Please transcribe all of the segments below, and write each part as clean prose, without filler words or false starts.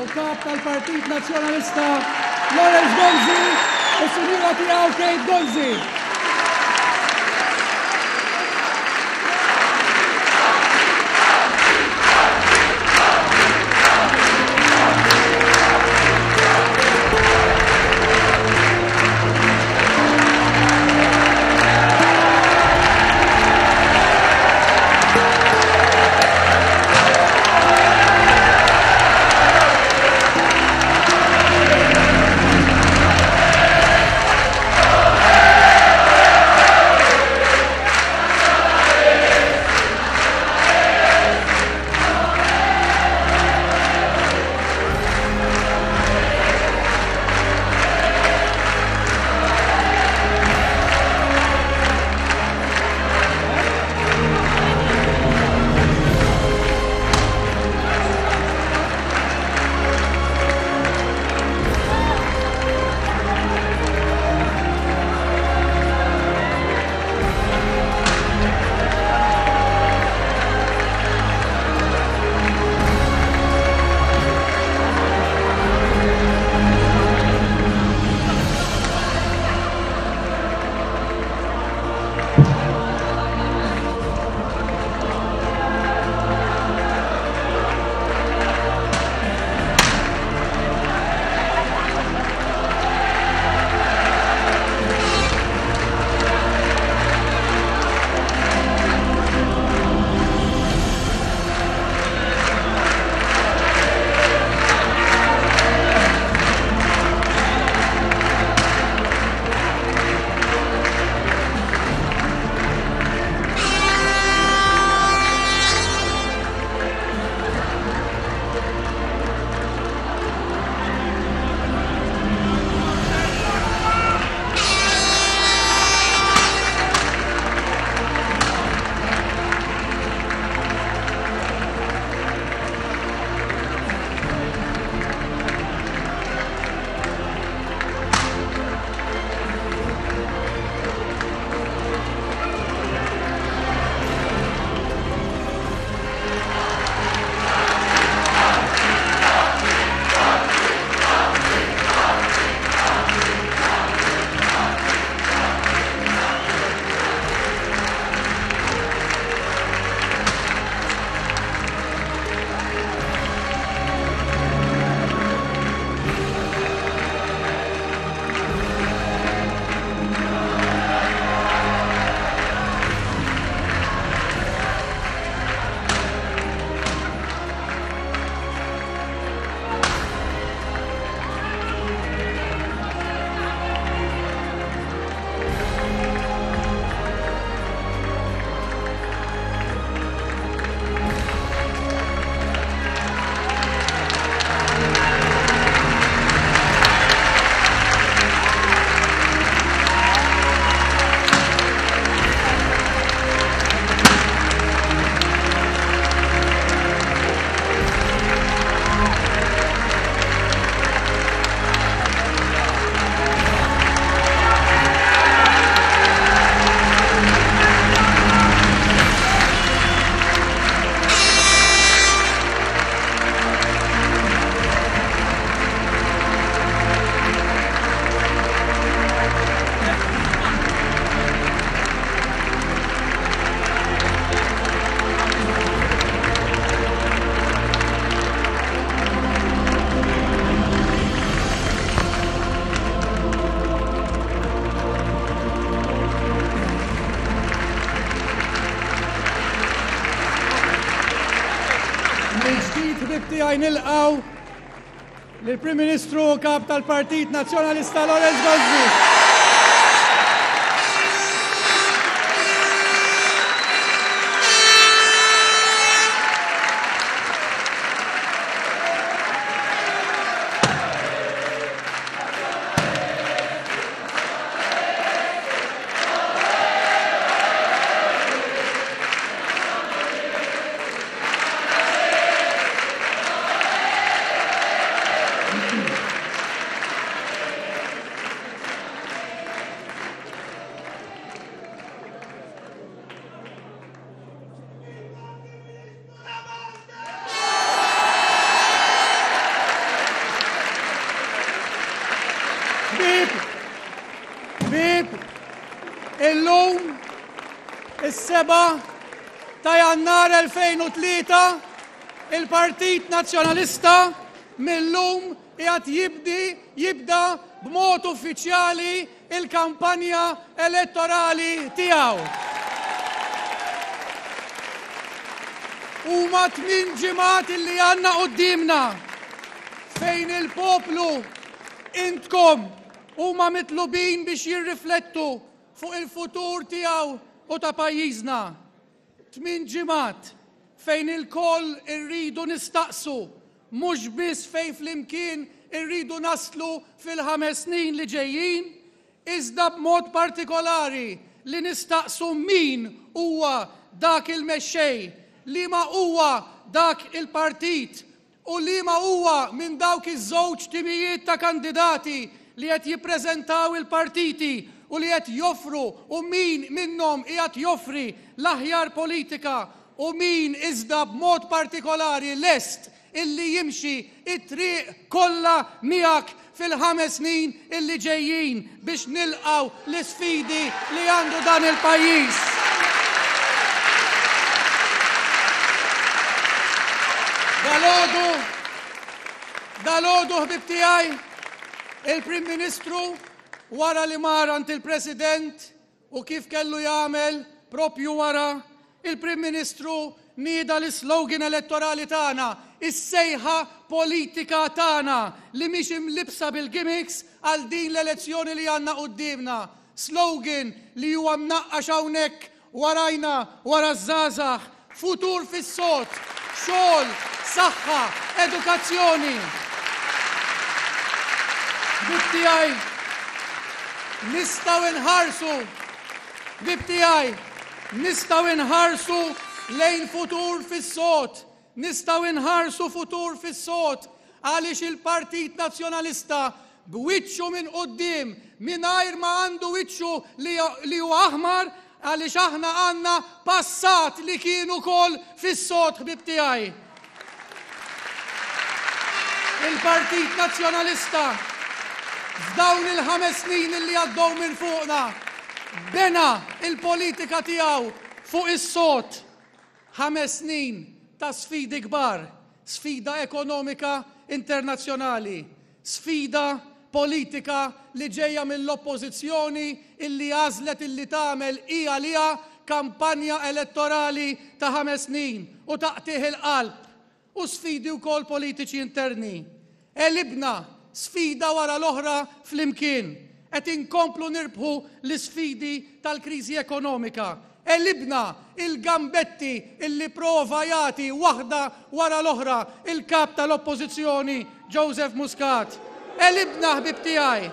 u Kap tal-Partit Nazzjonalista Lawrence Gonzi u s-Sinjura tiegħu Kate Gonzi. Mill-ġdid ħbieb tiegħi nilqgħu lill-Prim Ministru u Kap tal-Partit Nazzjonalista Lawrence Gonzi. Illum, is-7 ta' Jannar 2003, il-Partit Nazzjonalista mil-lum qiegħed jibdi jibda b'mod uffiċjali il-kampanja elettorali tiegħu. Huma tmin ġimgħat illi għandna quddiemna fejn il-poplu intkom huma mitlubin biex jirriflettu fuq il-futur tiegħu u ta' pajjiżna. Tmin ġimgħat fejn ilkoll irridu nistaqsu mhux biss fejn flimkien irridu naslu fil-ħames snin li ġejjin, iżda b'mod partikolari li nistaqsu min huwa dak il-mexxej, liema huwa dak il-partit u liema huwa minn dawk iż-żewġ timijiet ta' kandidati li qed jippreżentaw il-partiti u li qed joffru u min minnhom qiegħed joffri l-aħjar politika u min iżda b'mod partikolari lest illi jimxi t-triq kollha miegħek fil-ħames snin illi ġejjin biex nilqgħu l-isfidi li għandu dan il-pajjiż. Dalgħodu, dalgħodu ħbieb tiegħi, il-Prim Ministru wara li mar għand il-President U kif kellu jagħmel, proprju wara, il-Prim Ministru nieda l-islogan elettorali tagħna, is-sejħa politika tagħna li mhix imlibbsa bil-gimmicks għal din l-elezzjoni li għandna quddiemna. Slogan li huwa mnaqqax hawnhekk warajna, wara ż-żgħażagħ, Futur fis-sod, xogħol, saħħa, edukazzjoni. Ħbieb tiegħi, nistgħu nħarsu, ħbieb tiegħi, nistgħu nħarsu lejn futur fis-sod, nistgħu nħarsu futur fis-sod għaliex il-Partit Nazzjonalista b'wiċċu minn quddiem mingħajr ma għandu wiċċu li huwa aħmar għaliex aħna għandna passat li kien ukoll fis-sod ħbieb tiegħi. Il-Partit Nazzjonalista f'dawn il-ħames snin li għaddew minn fuqna bena il-politika tiegħu fuq is-sod. Ħames snin ta' sfidi kbar, sfida ekonomika internazzjonali, sfida politika li ġejja mill-Oppożizzjoni illi għażlet illi tagħmel hi għaliha kampanja elettorali ta' ħames snin u ta' qtigħ il-qalb u sfidi wkoll politiċi interni. Għelibna sfida wara l-oħra flimkien. Qed inkomplu nirbħu l-isfidi tal-kriżi ekonomika. Għelibna il-gambetti illi prova jagħti waħda wara l-oħra il-Kap tal-Oppożizzjoni Joseph Muscat. Għelibna ħbieb tiegħi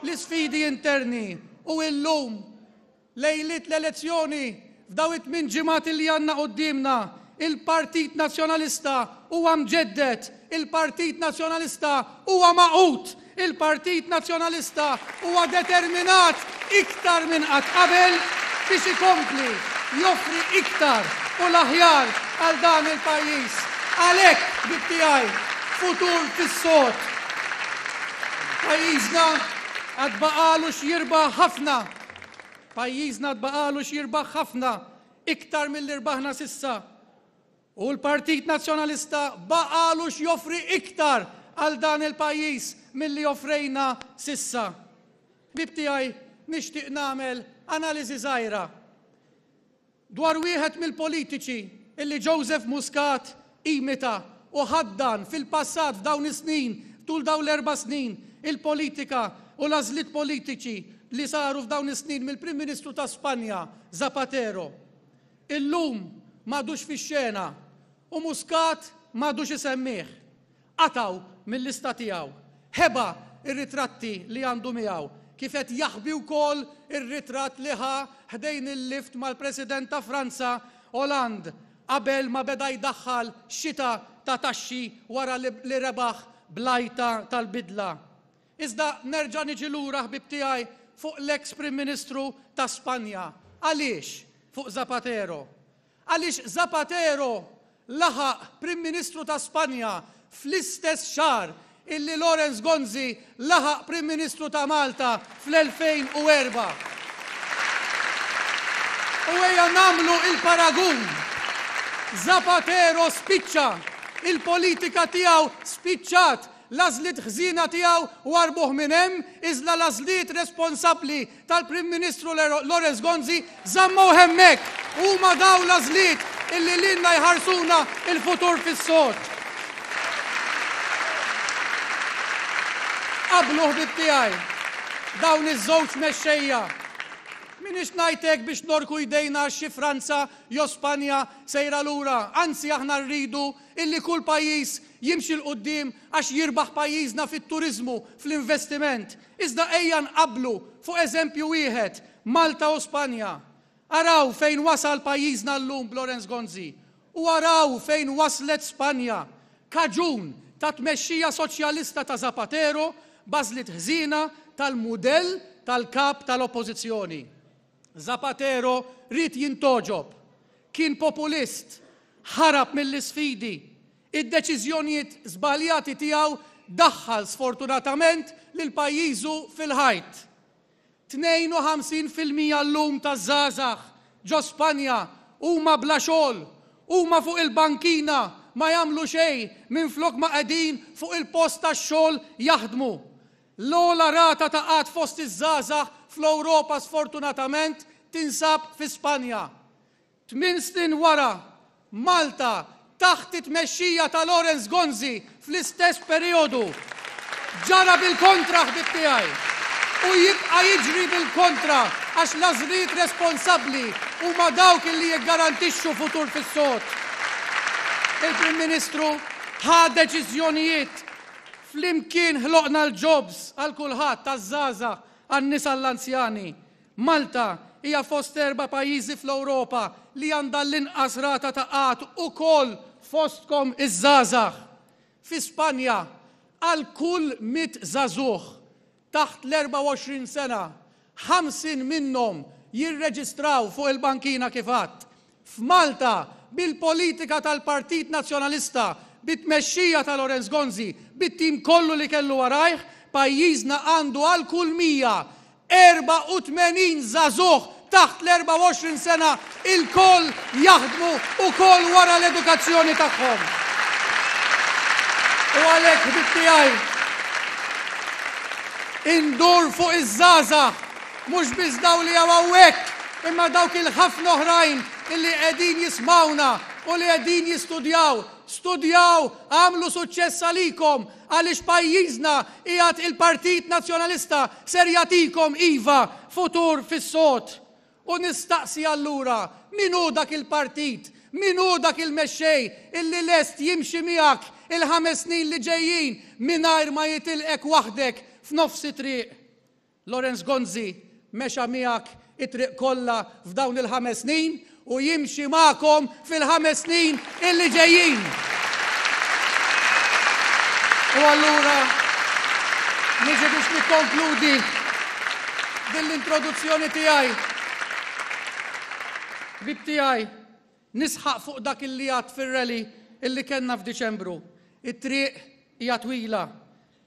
l-isfidi interni u illum Lejliet l-elezzjoni, f'dawn it-tmien ġimgħat li għandna quddiemna, il-Partit Nazzjonalista huwa mġedded, il-Partit Nazzjonalista huwa magħqud, il-Partit Nazzjonalista huwa determinat iktar minn qatt qabel biex ikompli joffri iktar u l-aħjar għal dan il-pajjiż. Għalhekk, ħbieb tiegħi, futur fis-sod. Pajjiżna għad baqagħlu x'jirbaħ ħafna. Pajjiżna għad baqagħlu x'jirbaħ ħafna iktar milli rbaħna s'issa. U l-Partit Nazzjonalista baqagħlu x'joffri iktar għal dan il-pajjiż milli offrejna s'issa. Ħbieb tiegħi, nixtieq nagħmel analiżi żgħira. Dwar wieħed mill-politiċi illi Joseph Muscat imita u ħaddan fil-passat f'dawn is-snin, tul dawn l-erba' snin, il-politika u l-għażliet politiċi li saru f'dawn is-snin mill-Prim Ministru ta' Spanja, Zapatero. Illum m'għadux fix-xena u Muscat m'għadux isemmih. Qatgħu mil-lista tiegħu. Ħeba r-ritratti li għandu miegħu, kif qed jaħbi wkoll ir-ritratt li ħa ħdejn il-lift mal-President ta' Franza, Hollande, qabel ma beda jdaħħal xita ta' taxxi wara li rebaħ bl-għajta tal-bidla. Iżda nerġa' niġi lura ħbieb tiegħi fuq l-eks Prim Ministru ta' Spanja. Għaliex fuq Zapatero? Għaliex Zapatero laħaq Prim Ministru ta' Spanja fl-istess xahar illi Lawrence Gonzi laħaq Prim Ministru ta' Malta fl-2004. U ejja nagħmlu il-paragun. Zapatero spiċċa. Il-politika tiegħu spiċċat. L-għażliet ħżiena tiegħu warbuh minn hemm, iżda l-għażliet responsabbli tal-Prim Ministru Lawrence Gonzi żammuh hemmhekk. Huma dawn l-għażliet illi lilna jħarsuna l-futur fis-sod. Qablu ħbieb tiegħi dawn iż-żewġ mexxejja. M'iniex ngħid hekk biex norku jdejna għax xi Franza jew Spanja sejra lura, anzi aħna rridu illi kull pajjiż jimxi 'l quddiem għax jirbaħ pajjiżna fit-turiżmu, fl-investiment. Iżda ejja nqabblu fuq eżempju wieħed, Malta u Spanja. Araw fejn wasal pajjiżna llum b'Lawrence Gonzi u araw fejn waslet Spanja, kaġun ta' tmexxija soċjalista ta' Zapatero b'għażliet ħżiena tal-mudell tal-kap tal-Oppożizzjoni. Zapatero ried jintgħoġob. Kien populist. Ħarab mill-isfidi. Id-deċiżjonijiet żbaljati tiegħu daħħal sfortunatament lil pajjiżu fil-ħajt. 52% llum taż-żgħażagħ ġo Spanja huma bla xogħol, huma fuq il-bankina ma jagħmlu xejn minflok ma qegħdin fuq il-post tax-xogħol jaħdmu. L-ogħla rata ta' qgħad fost iż-żgħażagħ fl-Ewropa sfortunatament tinsab fi Spanja. Tminn snin wara, Malta, taħt it-tmexxija ta' Lawrence Gonzi fl-istess perijodu, ġara bil-kontra ħbieb tiegħi. U jibqa' jiġri bil-kontra għax l-għażliet responsabbli huma dawk illi jiggarantixxu futur fis-sod. Il-Prim Ministru ħa deċiżjonijiet. Flimkien ħloqna l-jobs għal kulħadd, għaż-żgħażagħ, għan-nisa għall-anzjani. Malta hija fost erba' pajjiżi fl-Ewropa li għandha l-inqas rata ta' qgħad ukoll fostkom iż-żgħażagħ. Fi Spanja, għal kull mitt żagħżugħ taħt l-24 sena, 50 minnhom jirreġistraw fuq il-bankina kif għadt. F'Malta, bil-politika tal-Partit Nazzjonalista, bit-tmexxija ta' Lawrence Gonzi, bit-tim kollu li kellu warajh, pajjiżna għandu għal kull 184 żagħżugħ taħt l-24 sena ilkoll jaħdmu ukoll wara l-edukazzjoni tagħhom. U għalhekk ħbieb tiegħi, indur fuq iż-żgħażagħ, mhux biss dawn li hawn hawnhekk, imma dawk il-ħafna oħrajn illi qegħdin jismgħuna u li qegħdin jistudjaw. Studjaw, agħmlu suċċess għalikom, għaliex pajjiżna qiegħed il-Partit Nazzjonalista ser jagħtikom iva futur fis-sod. U nistaqsi allura, min hu dak il-partit, min hu dak il-mexxej illi lest jimxi miegħek il-ħames snin li ġejjin mingħajr ma jitilqek waħdek f'nofs it-triq? Lawrence Gonzi mexa miegħek it-triq kollha f'dawn il-ħames snin u jimxi magħkom fil-ħames snin illi ġejjin. U allura niġi biex nikkonkludi din l-introduzzjoni tiegħi. Ħbieb tiegħi, nisħaq fuq dak illi għadt fir-rally illi kellna f'Diċembru. It-triq hija twila.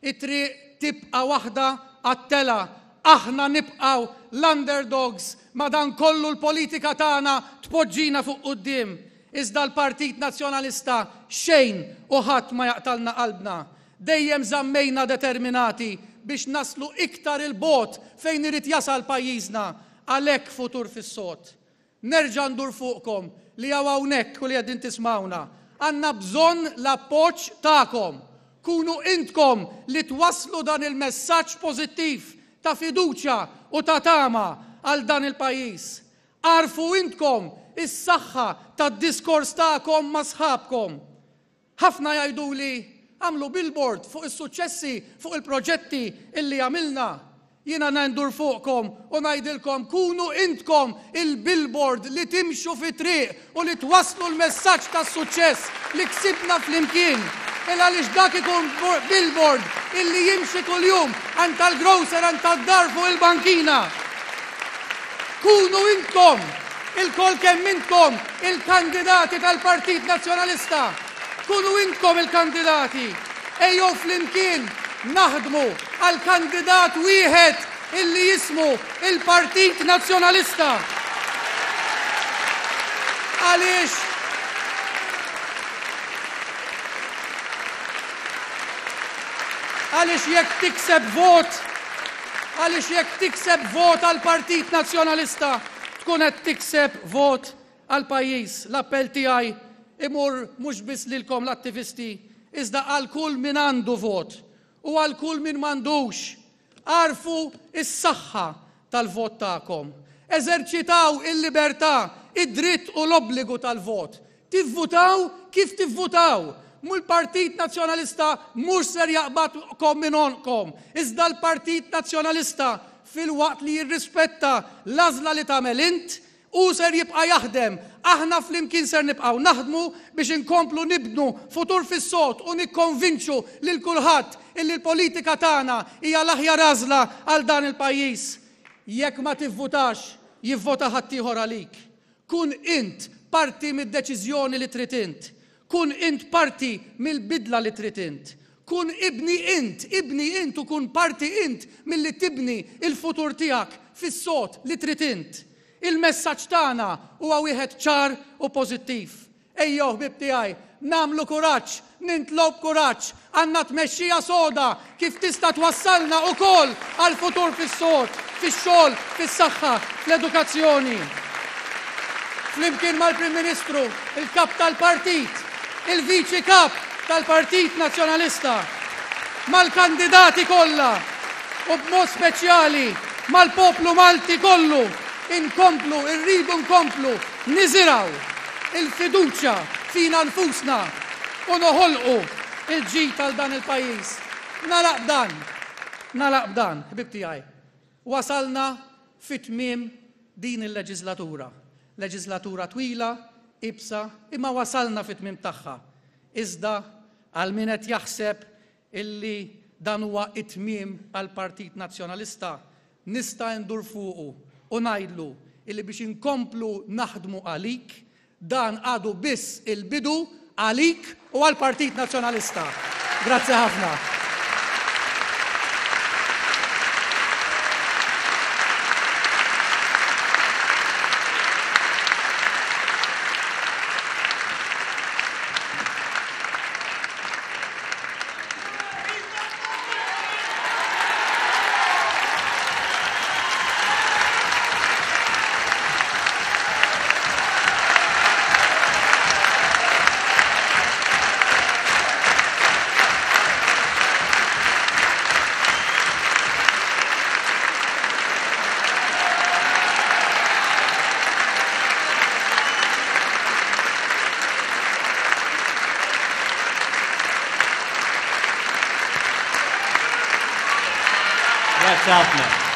It-triq tibqa' waħda għat-telgħa. Aħna nibqgħu l-underdogs, madankollu l-politika tagħna tpoġġina fuq quddiem. Iżda l-Partit Nazzjonalista xejn u ħadd ma jaqtgħalna qalbna. Dejjem żammejna determinati biex naslu iktar 'il bogħod fejn irid jasal pajjiżna. Għalhekk futur fis-sod. Nerġa' ndur fuqkom li hawn hawnhekk u li qegħdin tismgħuna. Għandna bżonn l-appoġġ tagħkom. Kunu intkom li twasslu dan il-messaġġ pożittiv ta' fiduċja u ta' tama għal dan il-pajjiż. Agħrfu intkom is-saħħa tad-diskors tagħkom ma' sħabkom. Ħafna jgħiduli, agħmlu billboard fuq is-suċċessi, fuq il-proġetti illi għamilna. Jiena ndur fuqkom u ngħidilkom kunu intkom il-billboard li timxu fit-triq u li twasslu l-messaġġ tas-suċċess li ksibna flimkien. Il għaliex dak ikun billboard illi jimxi kuljum għand tal-grocer għand tad-dar fuq il-bankina. Kunu intkom, ilkoll kemm intkom, il-kandidati tal-Partit Nazzjonalista. Kunu intkom il-kandidati. Ejjew flimkien naħdmu għal kandidat wieħed illi jismu il-Partit Nazzjonalista. Għaliex Għaliex jekk tikseb vot, għaliex jekk tikseb vot għall-Partit Nazzjonalista, tkun qed tikseb vot għall-pajjiż. L-appell tiegħi imur mhux biss lilkom l-attivisti, iżda għal kull min għandu vot u għal kull min m'għandux. Agħrfu s-saħħa tal-vot tagħkom. Eżerċitaw il-libertà, id-dritt u l-obbligu tal-vot. Tivvutaw kif tivvutaw. L-Partit Nazzjonalista mhux ser jaqbadkom minn għonqkom, iżda l-Partit Nazzjonalista filwaqt li jirrispetta l-għażla li tagħmel int, Hu ser jibqa' jaħdem, aħna flimkien ser nibqgħu naħdmu biex inkomplu nibnu futur fis-sod u nikkonvinċu lil kulħadd illi l-politika tagħna hija l-aħjar għażla għal dan il-pajjiż. Jekk ma tivvutax, jivvota ħaddieħor għalik. Kun int parti mid-deċiżjoni li trid int. Kun int parti mill-bidla li trid int. Kun ibni int, ibni int u kun parti int milli tibni l-futur tiegħek fis-sod li trid int. Il-messaġġ tagħna huwa wieħed ċar u pożittiv. Ejjew ħbieb tiegħi, nagħmlu kuraġġ, nintlow b'kuraġġ, għandna tmexxija soda kif tista' twassalna ukoll għal futur fis-sod, fix-xogħol, fis-saħħa, fl-edukazzjoni. Flimkien mal-Prim Ministru, il-Kap tal-Partit, il-Viċi Kap tal-Partit Nazzjonalista, mal-kandidati kollha u b'mod speċjali mal-poplu Malti kollu inkomplu, irridu nkomplu niżirgħu il-fiduċja fina nfusna u noħolqu il-ġid għal dan il-pajjiż. Nagħlaq b'dan, nagħlaq b'dan, ħbieb tiegħi. Wasalna fi tmiem din il-leġiżlatura. Leġiżlatura twila, iebsa, imma wasalna fit-tmiem tagħha. Iżda għal min qed jaħseb illi dan huwa t-tmiem għall-Partit Nazzjonalista, nista' ndur fuqu u ngħidlu illi biex inkomplu naħdmu għalik, Dan għadu biss il-bidu għalik u għall-Partit Nazzjonalista. Grazzi ħafna. Grazzi ħafna.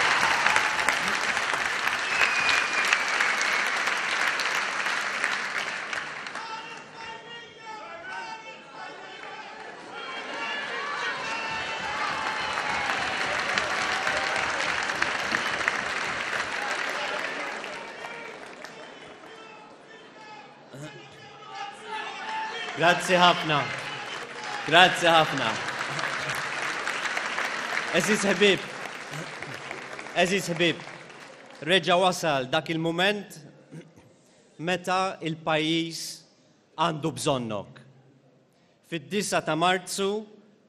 Grazzi ħafna. Grazzi ħafna. Eżiz ħbib, eżiz ħbib, reġa wasal dak il-moment meta il-pajjiż għandu bżonnok. Fid-9 ta' Marzu,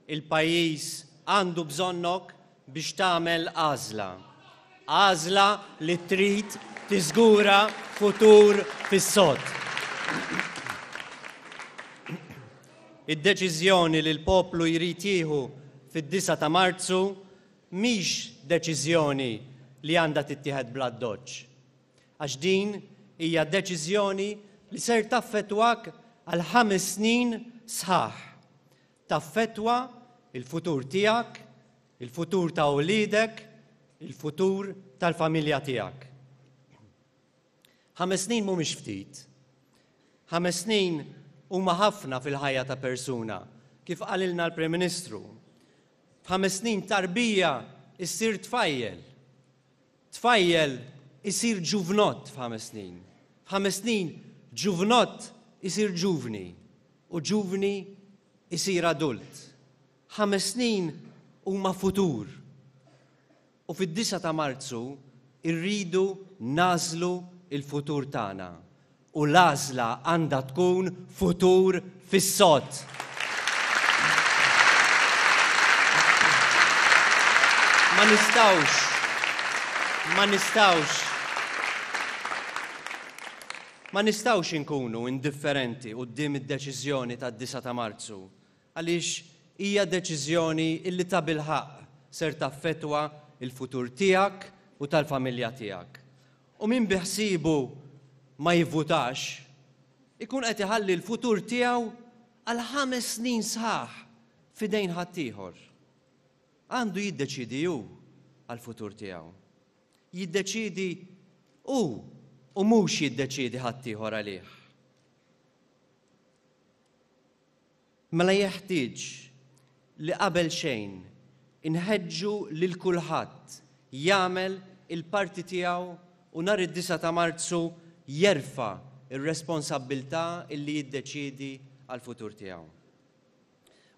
il-pajjiż għandu bżonnok biex tagħmel għażla. Għażla li trid tiżgura futur fis-sod. Id-deċiżjoni li l-poplu jrid jieħu fid-9 ta' Marzu mhix deċiżjoni li għandha tittieħed bl-addoċċ. Għax din hija deċiżjoni li ser taffettwak għal ħames snin sħaħ. Taffettwa l-futur tiegħek, il-futur ta' uliedek, il-futur tal-familja tiegħek. Ħames snin mhumiex ftit. Ħames snin huma ħafna fil-ħajja ta' persuna, kif qalilna l-Prim Ministru. F'ħames snin tarbija issir tfajjel. Tfajjel isir ġuvnott f'ħames snin. F'ħames snin ġuvnott isir ġuvni u ġuvni isir adult. Ħames snin huma futur. U fid-9 ta' Marzu rridu nagħżlu l-futur tagħna. U l-għażla għandha tkun futur fis-sod. Ma nistgħux, ma nistgħux, ma nistgħux inkunu indifferenti quddiem id-deċiżjoni tad-disgħa ta' Marzu għaliex hija deċiżjoni illi tabilħaqq ser taffettwa l-futur tiegħek u tal-familja tiegħek. U min biħsiebu ma jivvutax, ikun qed iħalli l-futur tiegħu għal ħames snin sħaħ f'idejn ħaddieħor. Għandu jiddeċiedi hu għall-futur tiegħu. Jiddeċiedi hu u mhux jiddeċiedi ħaddieħor għalih. Mela jeħtieġ li qabel xejn inħeġġu lil kulħadd jagħmel il-parti tiegħu u nhar id-disgħa ta' Marzu jerfa' r-responsabbiltà illi jiddeċiedi għall-futur tiegħu.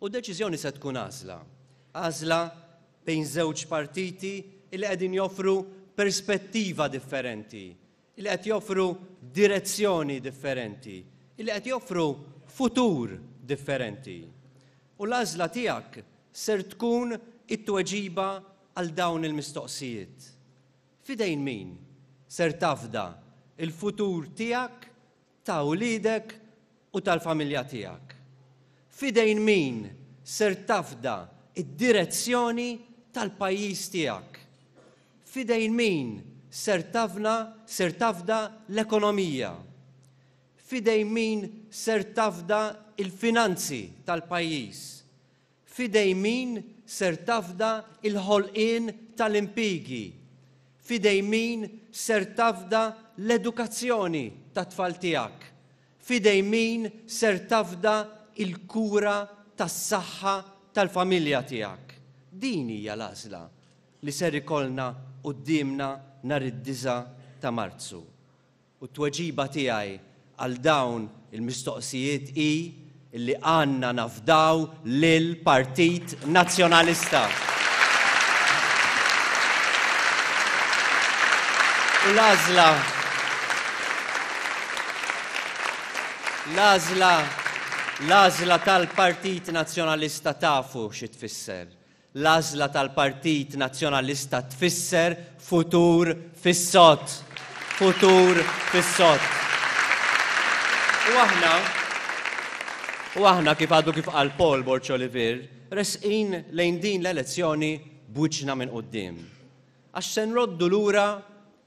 U d-deċiżjoni se tkun għażla. Għażla bejn żewġ partiti illi qegħdin joffru perspettiva differenti, li qed joffru direzzjoni differenti, li qed joffru futur differenti. U l-għażla tiegħek ser tkun it-tweġiba għal dawn il-mistoqsijiet. F'idejn min ser tafda l-futur tiegħek, ta' wliedek u tal-familja tiegħek? F'idejn min ser tafda d-direzzjoni tal-pajjiż tiegħek? F'idejn min ser tafna ser tafda l-ekonomija? F'idejn min ser tafda l-finanzi tal-pajjiż? F'idejn min ser tafda l-ħolqien tal-impjiegi? F'idejn min ser tafda l-edukazzjoni tat-tfal tiegħek? F'idejn min ser tafda l-kura tas-saħħa tal-familja tiegħek? Din hija l-għażla li ser ikollna quddiemna nhar id-disgħa ta' Marzu. U t-tweġiba tiegħi għal dawn il-mistoqsijiet hi li għandna nafdaw lill-Partit Nazzjonalista. U l-għażla l-għażla l-għażla tal-Partit Nazzjonalista tafu xi tfisser. L-għażla tal-Partit Nazzjonalista tfisser futur fis-sod. Futur fis-sod. U aħna, u aħna kif għadu kif qal Paul Borg Olivier, resqin lejn din l-elezzjoni b'wiċċna minn quddiem. Għax se nroddu lura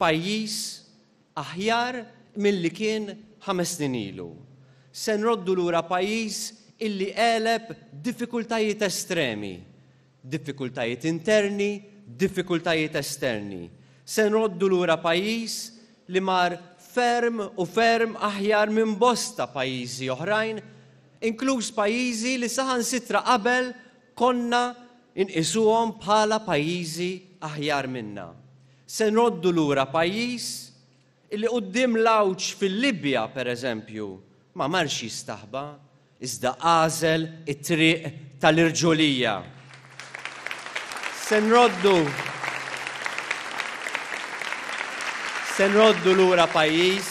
pajjiż aħjar milli kien ħames snin ilu. Se nroddu lura pajjiż illi għeleb diffikultajiet estremi, diffikultajiet interni, diffikultajiet esterni. Se nroddu lura pajjiż li mar ferm u ferm aħjar minn bosta pajjiżi oħrajn, inkluż pajjiżi li saħansitra qabel konna nqisuhom bħala pajjiżi aħjar minna. Se nroddu lura pajjiż illi quddiem l-għawġ fil-Libja, per eżempju, ma marx jistaħba, iżda għażel it-triq tal-irġulija. Se nroddu Se nroddu lura pajjiż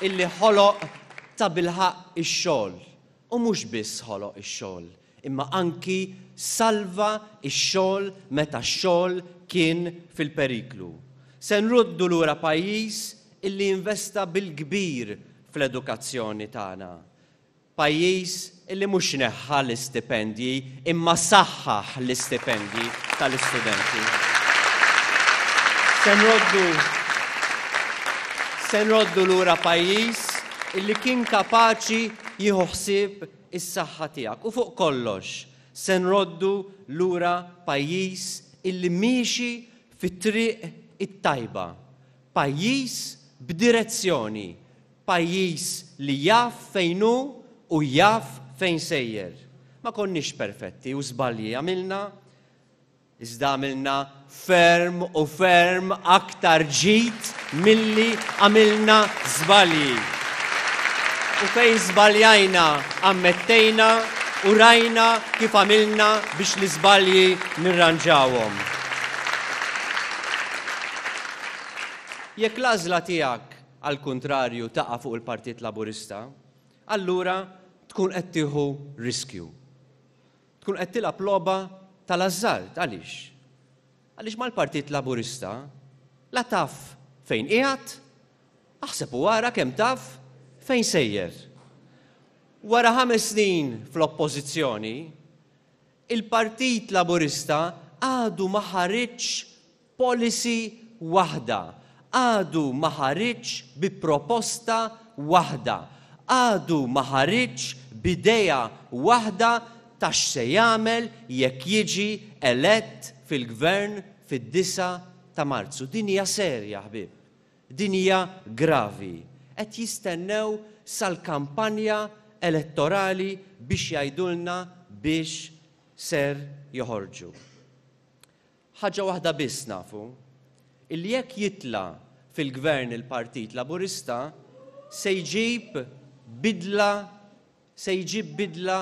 illi ħoloq tabilħaqq ix-xogħol u mhux biss ħoloq ix-xogħol, imma anki salva x-xogħol meta x-xogħol kien fil-periklu. Se nruddu lura pajjiż illi investa bil-kbir fl-edukazzjoni tagħna. Pajjiż illi mhux neħħa l-istipendji imma saħħaħ l-istipendji tal-istudenti. Se nroddu Se nroddu lura pajjiż illi kien kapaċi jieħu ħsieb is-saħħa tiegħek u fuq kollox se nroddu lura pajjiż illi miexi fit-triq it-tajba, pajjiż b'direzzjoni, pajjiż li jaf fejn hu u jaf fejn sejjer. Ma konniex perfetti u żbalji għamilna, Iżda għamilna ferm u ferm aktar ġid milli għamilna żbalji. U fejn żbaljajna ammettejna u rajna kif għamilna biex l-iżbalji nirranġawhom. Jekk l-għażla tiegħek. għall-kuntrarju taqa' fuq il-Partit Laburista, allura tkun qed tieħu riskju. Tkun qed tilgħab logħba tal-ażżard. Għaliex? Għaliex mal-Partit Laburista la taf fejn qiegħed, aħseb u ara kemm taf fejn sejjer. Wara ħames snin fl-Oppożizzjoni, il-Partit Laburista għadu ma ħariġx policy waħda, għadu ma ħariġx bi proposta waħda, għadu ma ħariġx b'idea waħda ta' x'se jagħmel jekk jiġi elett fil-Gvern fid-disgħa ta' Marzu. Din hija serja, ħbieb. Din hija gravi. Qed jistennew sal-kampanja elettorali biex jgħidulna biex ser joħorġu. Ħaġa waħda biss nafu, illi jekk jitla' fil-Gvern il-Partit Laburista se jġib bidla se jġib bidla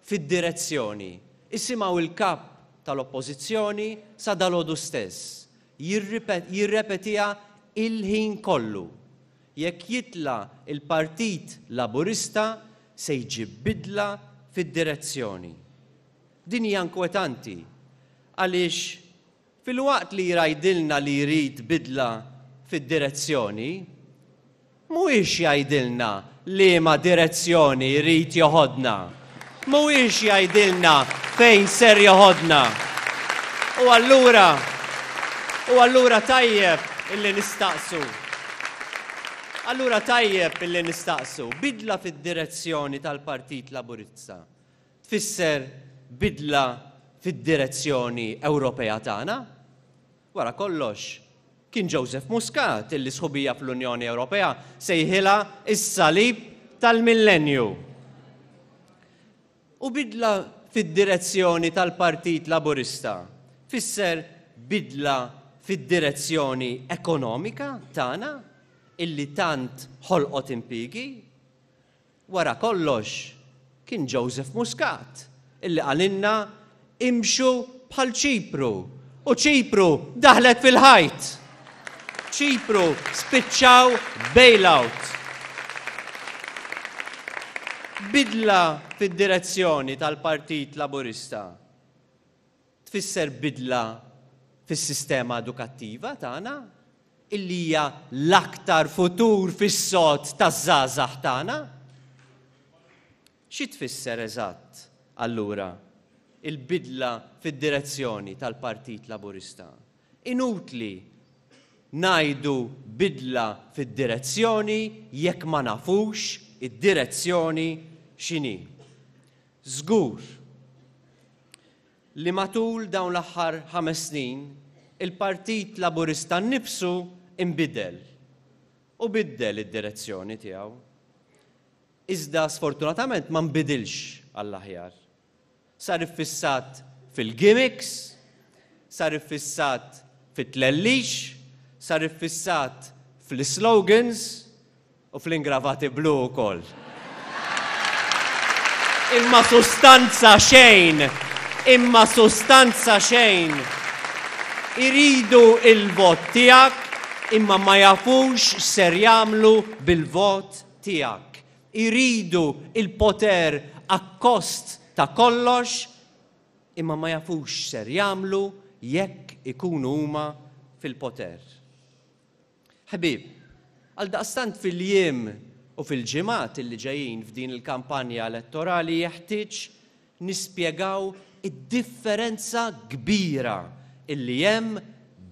fid-direzzjoni. Isimgħu l-Kap tal-Oppożizzjoni sa dalgħodu stess jirrepetiha il-ħin kollu. Jekk jitla' l-Partit Laburista se jġib bidla fid-direzzjoni. Din hija inkwetanti għaliex filwaqt li jgħidilna li jrid bidla fid-direzzjoni, mhuwiex jgħidilna liema direzzjoni jrid joħodna. Mhuwiex jgħidilna fejn ser joħodna. U allura u allura tajjeb illi nistaqsu. Allura tajjeb illi nistaqsu bidla fid-direzzjoni tal-Partit Laburista tfisser bidla fid-direzzjoni Ewropea tagħna? Wara kollox, kien Joseph Muscat illi sħubija fl-Unjoni Ewropea sejħilha s-salib tal-millenju. U bidla fid-direzzjoni tal-Partit Laburista tfisser bidla fid-direzzjoni ekonomika tagħna illi tant ħolqot impiegi? Wara kollox, kien Joseph Muscat illi qalilna imxu bħal Ċipru u Ċipru daħlet fil-ħajt. Ċipru spiċċaw bailout. Bidla fid-direzzjoni tal-Partit Laburista tfisser bidla fis-sistema edukattiva tagħna, illi hija l-aktar futur fis-sod taż-żgħażagħ tagħna. Xi tfisser eżatt, allura, il-bidla fid-direzzjoni tal-Partit Laburista? Inutli ngħidu bidla fid-direzzjoni jekk ma nafux id-direzzjoni x'inhi. Żgur li matul dawn l-aħħar ħames snin il-Partit Laburista nnifsu nbidel u biddel id-direzzjoni tiegħu. Iżda sfortunatament ma nbidilx għall-aħjar. Sar iffissat fil-gimmicks, sar iffissat fit-tlellix, sar iffissat fl-islogans U fl-ingravati blu wkoll. Imma sustanza xejn! Imma sustanza xejn! Iridu il-vot tiegħek imma ma jafux x'ser jagħmlu bil-vot tiegħek. Iridu il-poter akkost ta' kollox imma ma jafux x'ser jagħmlu jekk ikunu huma fil-poter. Ħbieb, għaldaqstant fil-jiem u fil-ġimgħat illi ġejjin f'din il-kampanja elettorali jeħtieġ nispjegaw id-differenza kbira illi hemm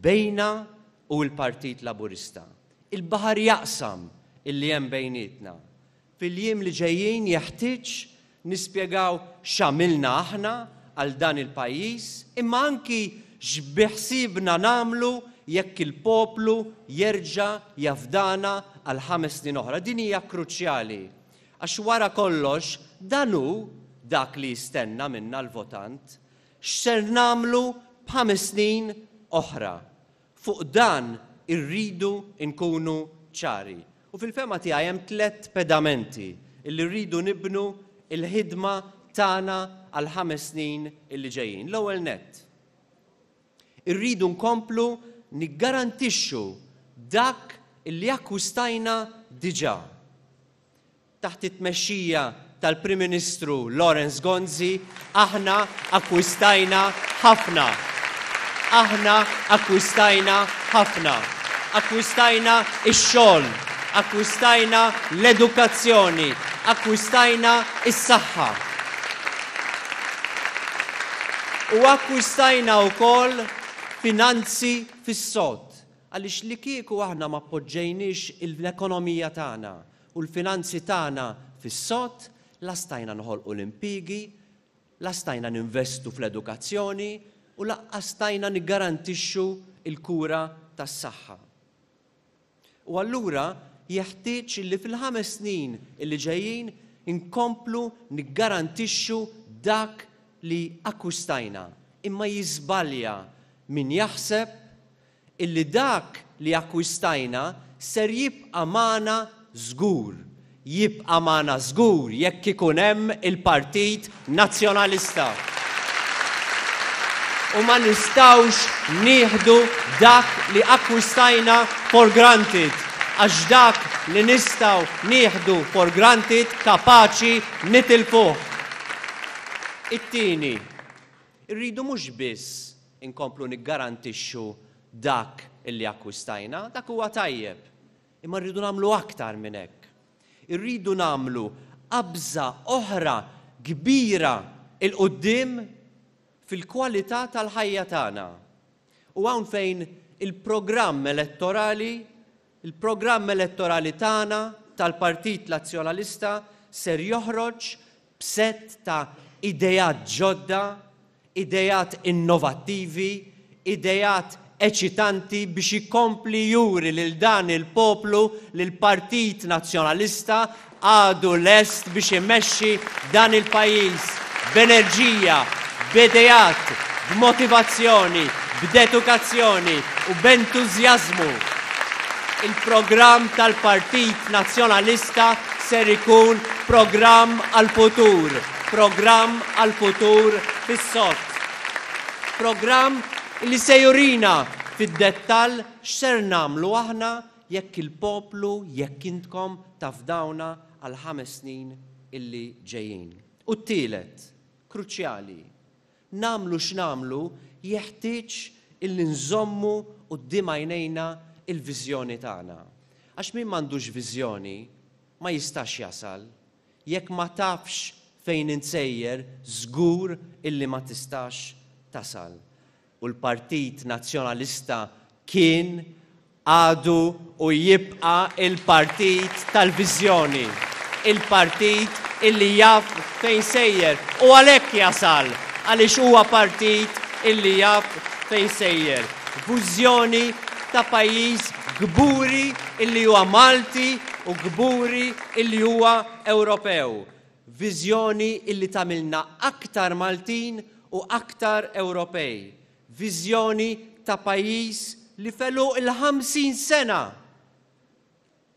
bejna u l-Partit Laburista. Il-baħar jaqsam illi hemm bejnietna. Fil-jiem li ġejjin jeħtieġ nispjegaw x'għamilna aħna għal dan il-pajjiż imma anki x'biħsiebna nagħmlu jekk il-poplu jerġa' jafdana għal ħames snin oħra. Din hija kruċjali għax wara kollox dan hu dak li jistenna minna l-votant. X'ser nagħmlu b'ħames snin oħra? Fuq dan irridu nkunu ċari. U fil-fehma tiegħi hemm tlett pedamenti illi rridu nibnu l-ħidma tagħna għall-ħames snin illi ġejjin. L-ewwel nett, irridu nkomplu niggarantixxu dak illi akkwistajna diġà. Taħt it-tmexxija tal-Prim Ministru Lawrence Gonzi aħna akkwistajna ħafna. Aħna akkwistajna ħafna. Akkwistajna x-xogħol, akkwistajna l-edukazzjoni, akkwistajna s-saħħa. U akkwistajna wkoll finanzi fis-sod. Għaliex li kieku aħna ma poġġejniex l-ekonomija tagħna u l-finanzi tagħna fis-sod, la stajna noħolqu l-impiegi, la stajna ninvestu fl-edukazzjoni u lanqas stajna niggarantixxu l-kura tas-saħħa. U allura jeħtieġ illi fil-ħames snin illi ġejjin inkomplu niggarantixxu dak li akkwistajna. Imma jiżbalja min jaħseb illi dak li akkwistajna ser jibqa' magħna żgur. Jibqa' magħna żgur jekk ikun hemm il-Partit Nazzjonalista. U ma nistgħux nieħdu dak li akkwistajna for granted, għax dak li nistgħu nieħdu for granted kapaċi nitilfuh. It-tieni, irridu mhux biss inkomplu niggarantixxu dak li akkwistajna, dak huwa tajjeb, imma rridu nagħmlu aktar minn hekk. Irridu nagħmlu qabża oħra kbira 'l quddiem fil-kwalità tal-ħajja tagħna. U hawn fejn il-programm elettorali, il-programm elettorali tagħna tal-Partit Nazzjonalista ser joħroġ b'sett ta' ideat ġodda, ideat innovattivi, ideat eċitanti biex ikompli juri lil dan il-poplu li l-Partit Nazzjonalista għadu lest biex imexxi dan il-pajjiż b'enerġija, b'ideat, b'motivazzjoni, b'dedukazzjoni u b'entużjażmu. Il-programm tal-Partit Nazzjonalista ser ikun programm għall-futur, programm għall-futur fis-sod. Programm li se jurina fid-dettall x'ser nagħmlu aħna jekk il-poplu, jekk intkom tafdawna għall-ħames snin illi ġejjin. U t-tielet, kruċjali, nagħmlu x'nagħmlu jeħtieġ illi nżommu quddiem għajnejna il-viżjoni tagħna. Għax min m'għandux viżjoni ma jistax jasal. Jekk ma tafx fejn int sejjer żgur illi ma tistax tasal. U l-Partit Nazzjonalista kien, għadu u jibqa' il-partit tal-viżjoni. Il-partit illi jaf fejn sejjer u għalhekk jasal għaliex huwa partit illi jaf fejn sejjer. Viżjoni ta' pajjiż kburi illi huwa Malti u kburi illi huwa Ewropew. Viżjoni illi tagħmilna aktar Maltin u aktar Ewropej. Viżjoni ta' pajjiż li f'għeluq il-50 sena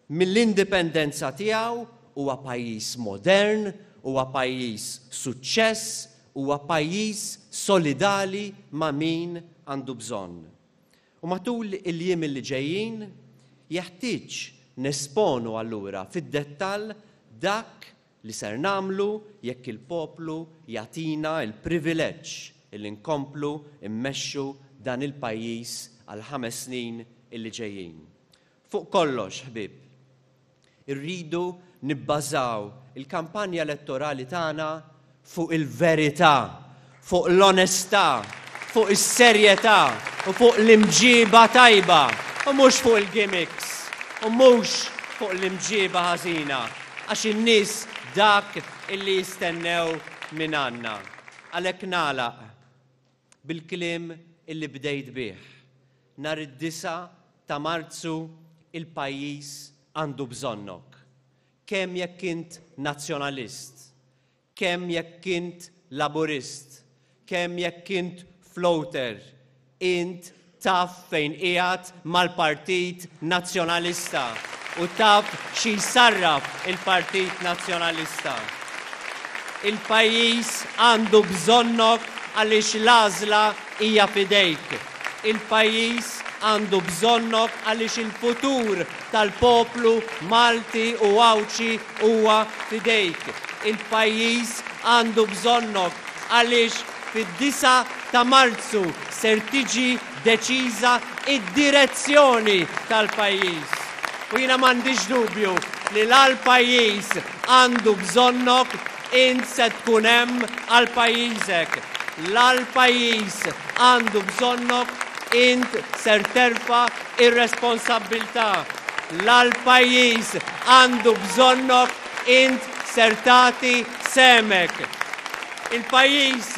mill-indipendenza tiegħu huwa pajjiż modern, huwa pajjiż suċċess, huwa pajjiż solidali ma' min għandu bżonn. U matul il-jiem li ġejjin jeħtieġ nesponu allura fid-dettall dak li ser nagħmlu jekk il-poplu jagħtina l-privileġġ illi nkomplu mmexxu dan il-pajjiż għall-ħames snin illi ġejjin. Fuq kollox, ħbieb, irridu nibbażaw il-kampanja elettorali tagħna fuq il-verità, fuq l-onestà, fuq is-serjetà u fuq l-imġiba tajba u mhux fuq il-gimmicks u mhux fuq l-imġiba ħażina għax in-nies dak illi jistennew minn għandna. Għalhekk nagħlaq bil-kliem illi bdejt bih. Nhar id-disgħa ta' Marzu il-pajjiż għandu bżonnok. Kemm jekk int Nazzjonalist, kemm jekk int Laburist, kemm jekk int floater, int taf fejn qiegħed mal-Partit Nazzjonalista u taf xi jsarraf il-Partit Nazzjonalista. Il-pajjiż għandu bżonnok għaliex l-għażla hija f'idejk. Il-pajjiż għandu bżonnok għaliex il-futur tal-poplu Malti u Għawdxi huwa f'idejk. Il-pajjiż għandu bżonnok għaliex fid-disgħa ta' Marzu ser tiġi deċiża d-direzzjoni tal-pajjiż. U jiena m'għandix dubju li la l-pajjiż għandu bżonnok, int se tkun hemm għal pajjiżek. La l-pajjiż għandu bżonnok, int ser terfa' r-responsabbiltà. La l-pajjiż għandu bżonnok, int ser tagħti sehmek. Il-pajjiż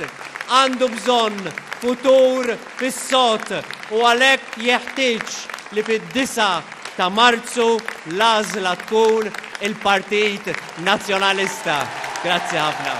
għandu bżonn futur fis-sod u għalhekk jeħtieġ li fid-disgħa ta' Marzu l-għażla tkun il-Partit Nazzjonalista. Grazzi ħafna.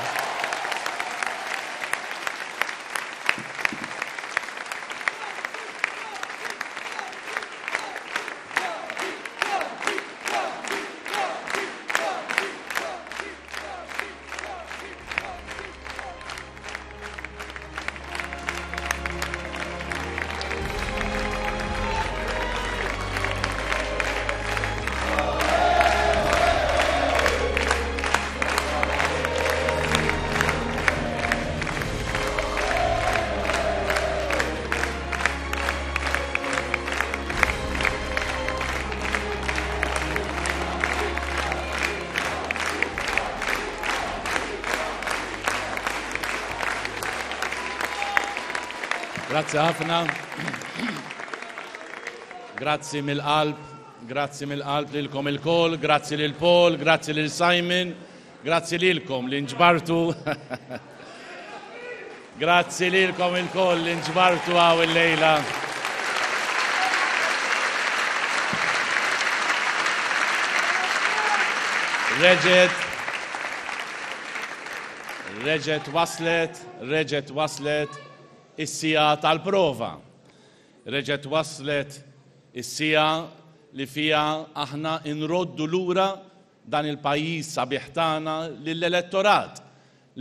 Grazzi ħafna. Grazzi mill-qalb, grazzi mill-qalb lilkom ilkoll, grazzi lil Paul, grazzi lil Simon, grazzi lilkom li nġbartu. Grazzi lilkom ilkoll li nġbartu hawn illejla. Reġgħet reġgħet waslet, reġgħet waslet is-siegħa tal-prova. Reġgħet waslet is-siegħa li fiha aħna nroddu lura dan il-pajjiż sabiħ tagħna lill-elettorat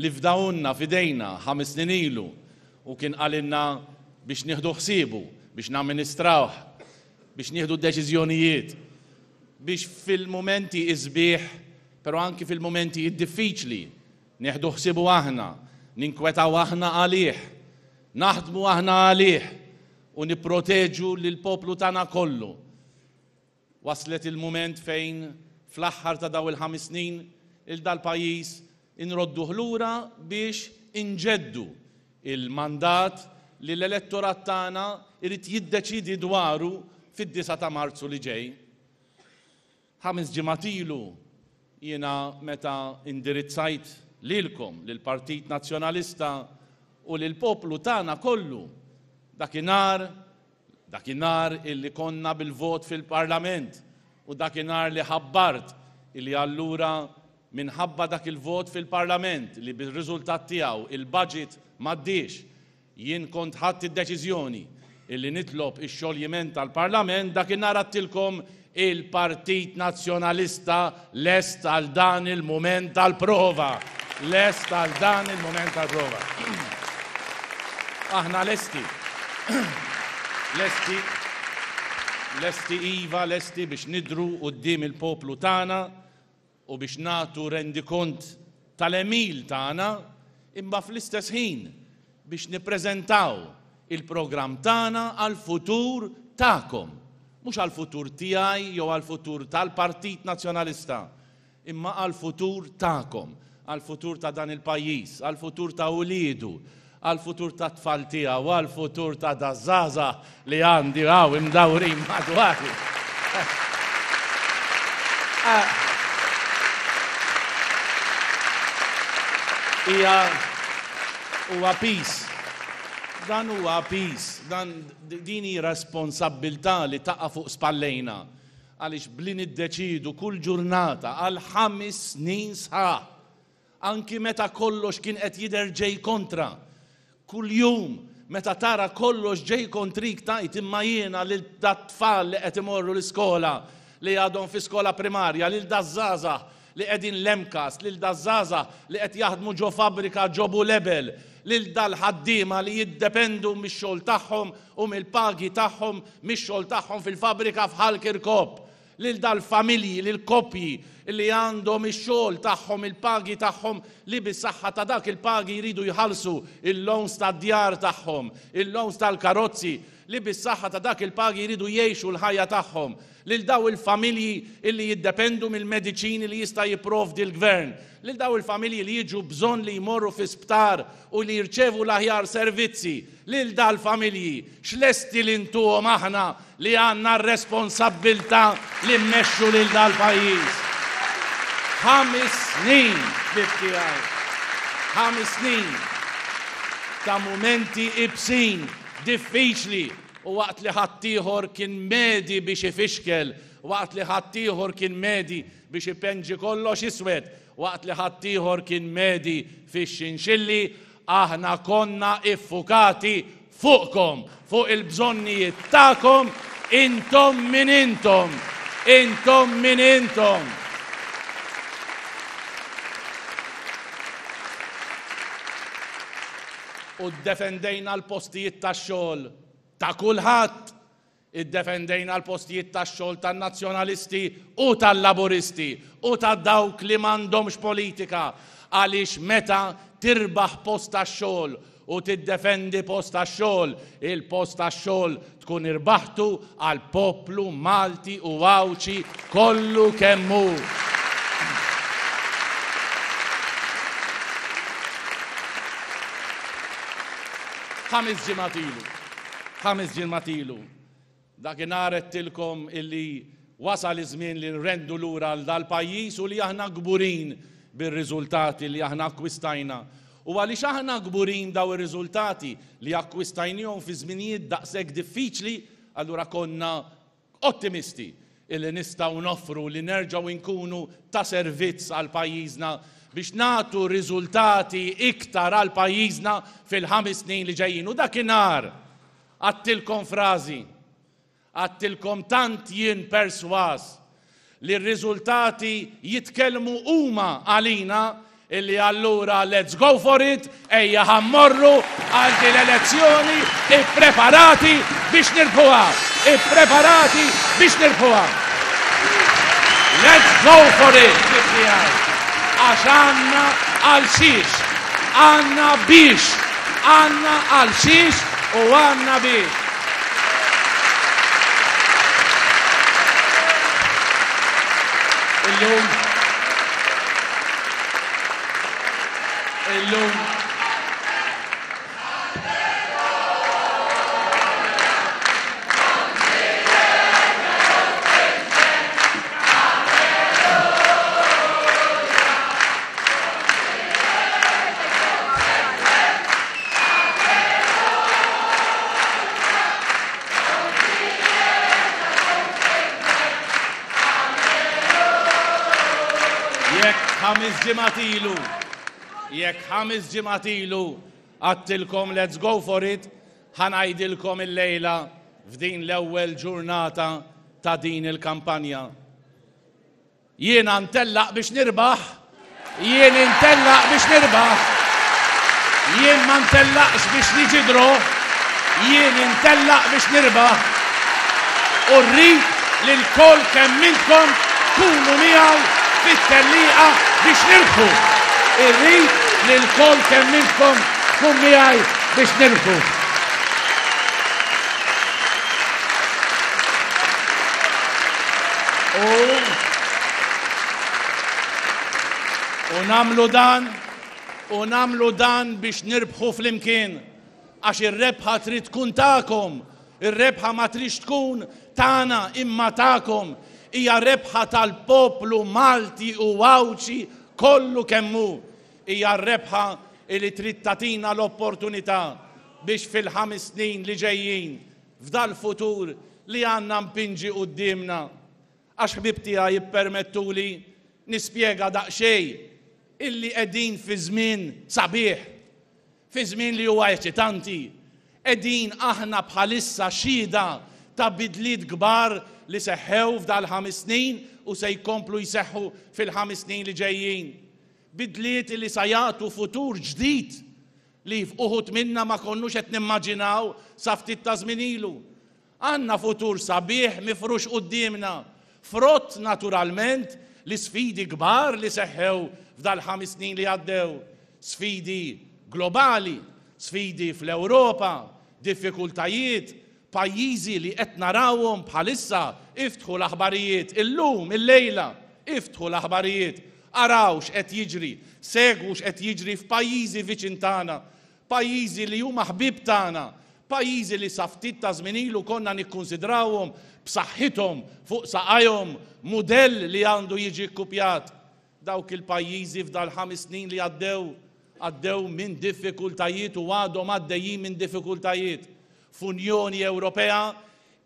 li fdahulna f'idejna ħames snin ilu u kien qalilna biex nieħdu ħsiebu, biex namministrawh, biex nieħdu d-deċiżjonijiet, biex fil-mumenti is-sbieħ però anki fil-mumenti id-diffiċli nieħdu ħsiebu aħna, ninkwetaw aħna għalih, naħdmu aħna għalih u nipproteġu lill-poplu tagħna kollu. Waslet il-mument fejn fl-aħħar ta' dawn il-ħames snin il dal-pajjiż inrodduh lura biex inġeddu il-mandat li l-elettorat tagħna jrid jiddeċiedi dwaru fid-disgħa ta' Marzu li ġej. Ħames ġimgħat ilu jiena meta indirizzajt lilkom, lill-Partit Nazzjonalista u lill-poplu tagħna kollu dakinhar Dakinhar illi konna bil-vot fil-Parlament u dakinhar li ħabbart illi allura minħabba dak il-vot fil-Parlament li bir-riżultat tiegħu il-budget m'għaddiex, jien kont ħadt id-deċiżjoni illi nitlob ix-xoljiment tal-Parlament, dakinhar għadtilkom Il-Partit Nazzjonalista lest għal dan il-mument tal-prova. Lest għal dan il-mument tal-prova. Aħna lesti. Lesti. Lesti iva, lesti biex nidhru quddiem il-poplu tagħna u biex nagħtu rendikont tal-għemil tagħna imma fl-istess ħin biex nippreżentaw il-programm tagħna għall-futur tagħkom, mhux għall-futur tiegħi jew għall-futur tal-Partit Nazzjonalista, imma għall-futur tagħkom, għall-futur ta' dan il-pajjiż, għall-futur ta' uliedu, għall-futur tat-tfal tiegħu, għall-futur ta' daż-żgħażagħ li għandi hawn imdawrin madwari. Hija huwa piż. Dan huwa piż, dan din hi responsabbiltà li taqa' fuq spallejna għaliex bli niddeċiedu kull ġurnata għal ħames snin sħaħ Anki meta kollox kien qed jidher ġej kontra. Kuljum, meta tara kollox ġej kontrik tgħid imma jiena lil dat-tfal li qed imorru l-iskola, li għadhom fi skola primarja, lil daż-żgħażagħ li qegħdin l-MCAST, lil daż-żgħażagħ li qed jaħdmu ġo fabbrika ġo Bulebel, lil dal-ħaddiema li jiddependu mix-xogħol tagħhom u mill-pagi tagħhom mix-xogħol tagħhom fil-fabbrika f'Ħal Kirkop, lil dal-familji, lill-koppji li għandhom ix-xogħol tagħhom, il-pagi tagħhom li bis-saħħa ta' dak il-pagi jridu jħallsu il-loans tad-djar tagħhom, il-loans tal-karozzi, li bis-saħħa ta' dak il-pagi jridu jgħixu l-ħajja tagħhom, lil daw il-familji illi jiddependu mill-mediċini li jista' jipprovdi l-Gvern, lil daw il-familji li jiġu bżonn li jmorru fi sptar u li jirċevu l-aħjar servizzi, lil dal-familji, x'lesti li ntuhom aħna li għandna r-responsabbiltà li mmexxu lil dal-pajjiż? Ħames snin, ħbieb tiegħi, ħames snin ta' mumenti ibsin, diffiċli, u waqt li ħaddieħor kien medi biex ifixkel, waqt li ħaddieħor kien medi biex ipenġi kollox iswed, waqt li ħaddieħor kien medi fix-xinxilli, aħna konna iffukati fuqkom, fuq il-bżonnijiet tagħkom, intom min intom, intom min intom. U ddefendejna l-postijiet tax-xogħol ta' kulħadd. Iddefendejna l-postijiet tax-xogħol tan-Nazzjonalisti u tal-Laburisti u ta' dawk li m'għandhomx politika għaliex meta tirbaħ post tax-xogħol u tiddefendi post tax-xogħol, il-post tax-xogħol tkun irbaħtu għall-poplu Malti u Għawdxi kollu kemm hu. Ħames ġimgħat ilu, ħames ġimgħat ilu, dakinhar għedtilkom illi wasal iż-żmien li nrendu lura għal dal-pajjiż u li aħna kburin bir-riżultati li aħna akkwistajna. U għaliex aħna kburin daw ir-riżultati li akkwistajnihom fi żminijiet daqshekk diffiċli, allura konna ottimisti illi nistgħu noffru li nerġgħu nkunu ta' servizz għal pajjiżna biex nagħtu riżultati iktar għal pajjiżna fil-ħames snin li ġejjin. U dakinhar għadtilkom frażi, għadtilkom tant jien persważ li r-riżultati jitkellmu huma għalina illi allura let's go for it, ejja ħa mmorru għal din l-elezzjoni ippreparati biex nirbħuha, ippreparati biex nirbħuha. Let's go for it, ħbieb tiegħi. Għax għandna għal xiex, għandna biex, għandna għal xiex u għandna biex. Illum Illum Jekk ħamis ġimgħat ilu, jekk ħamis ġimgħat ilu għadtilkom let's go for it, ħa ngħidilkom illejla f'din l-ewwel ġurnata ta' din il-kampanja. Jiena ntellaq biex nirbaħ, jien intellaq biex nirbaħ. Jien ma ntellaqx biex niġi draw, jien intellaq biex nirbaħ. U rrid li lkoll kemm intkom tkunu miegħi fit-tellieqa biex nirbħu. Irrid li lkoll kemm intkom tkun miegħi biex nirbħu. U u namlu dan u namlu dan biex nirbħu flimkien għax ir-rebħa trid tkun tagħkom, ir-rebħa ma tridx tkun tagħna imma tagħkom. Hija rebħa tal-poplu Malti u Għawdxi kollu kemm hu. Hija r-rebħa li trid tagħtina l-opportunità biex fil-ħames snin li ġejjin, f'dal-futur li għandna mpinġi quddiemna. Għax ħbieb tiegħi ippermettuli nispjega daqsxejn illi qegħdin fi żmien sabiħ, fi żmien li huwa eċitanti. Qegħdin aħna bħalissa xhieda ta' bidliet kbar li seħħew f'dal-ħames snin u se jkomplu jseħħu fil-ħames snin li ġejjin. Bidliet li sa jagħtu futur ġdid li uħud minna ma konnux qed nimmaġinaw sa ftit ta' żmien ilu. Għandna futur sabiħ mifrux quddiemna, frott naturalment l-isfidi kbar li seħħew f'dal-ħames snin li għaddew, sfidi globali, sfidi fl-Ewropa, diffikultajiet, pajjiżi li qed narawhom bħalissa, iftħu l-aħbarijiet illum, illejla, iftħu l-aħbarijiet, araw x'qed jiġri, segwu x'qed jiġri f'pajjiżi viċin tagħna, pajjiżi li huma ħbieb tagħna, pajjiżi li sa ftit ta' żmien ilu konna nikkunsidrawhom b'saħħithom fuq saqajhom, mudell li għandu jiġi kkupjat. Dawk il-pajjiżi f'dal-ħames snin li għaddew, għaddew minn diffikultajiet u għadhom għaddejjin minn diffikultajiet. F'Unjoni Ewropea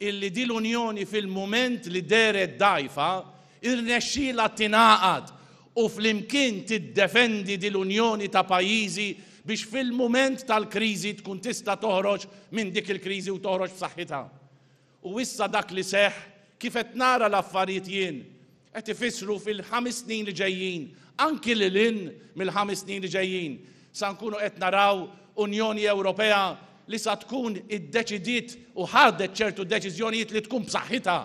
illi din l-Unjoni fil-mument li dehret dgħajfa, irnexxielha tingħaqad u flimkien tiddefendi din l-Unjoni ta' pajjiżi biex fil-mument tal-kriżi tkun tista' toħroġ minn dik il-kriżi u toħroġ b'saħħitha. U issa dak li seħħ, kif qed nara l-affarijiet jien, qed ifissru fil-ħames snin li ġejjin, anki lil hinn mill-ħames snin li ġejjin, sa nkunu qed naraw Unjoni Ewropea li sa tkun iddeċidiet u ħadet ċertu deċiżjonijiet li tkun b'saħħitha,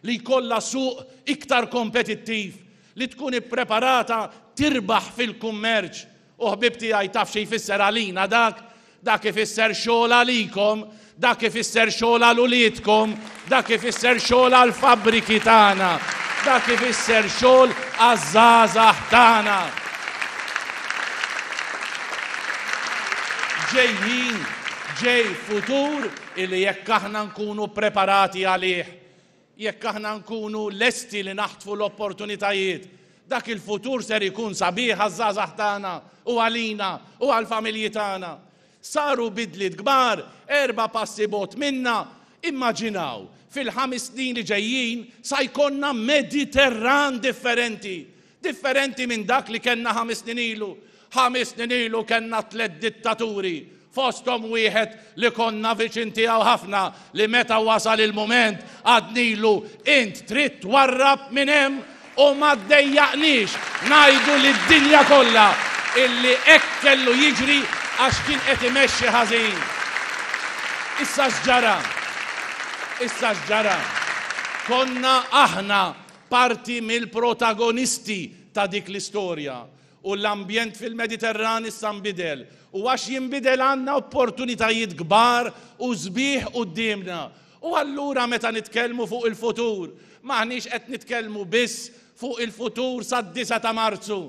li jkollha suq iktar kompetittiv, li tkun ippreparata tirbaħ fil-kummerċ U ħbieb tiegħi taf xi jfisser għalina dak? Dak ifisser xogħol għalikom, dak ifisser xogħol għal uliedkom, dak ifisser xogħol għal fabbriki tagħna, dak ifisser xogħol għaż-żgħażagħ tagħna. Ġejjin, ġej futur illi jekk aħna nkunu preparati għalih, Jekk aħna nkunu lesti li naħtfu l-opportunitajiet, dak il-futur ser ikun sabiħ għaż-żgħażagħ tagħna u għalina u għall-familji tagħna. Saru bidliet kbar, erba' passi bogħod minna. Immaġinaw, fil-ħames snin li ġejjin sa jkollna Mediterran differenti. Differenti minn dak li kellna ħames snin ilu. Ħames snin ilu kellna tlett dittaturi, fosthom wieħed li konna viċin tiegħu ħafna li meta wasal il-mument għadnilu int trid twarrab minn hemm u ma ddejjaqniex ngħidu lid-dinja kollha illi hekk kellu jiġri għax kien qed imexxi ħażin. Issa x'ġara? Issa x'ġara? Konna aħna parti mill-protagonisti ta' dik l-istorja. U l-ambjent fil-Mediterran issa nbidel. U għax jinbidel għandna opportunitajiet kbar u sbieħ quddiemna. U allura meta nitkellmu fuq il-futur, m'aħniex qed nitkellmu biss fuq il-futur sad-disgħa ta' Marzu.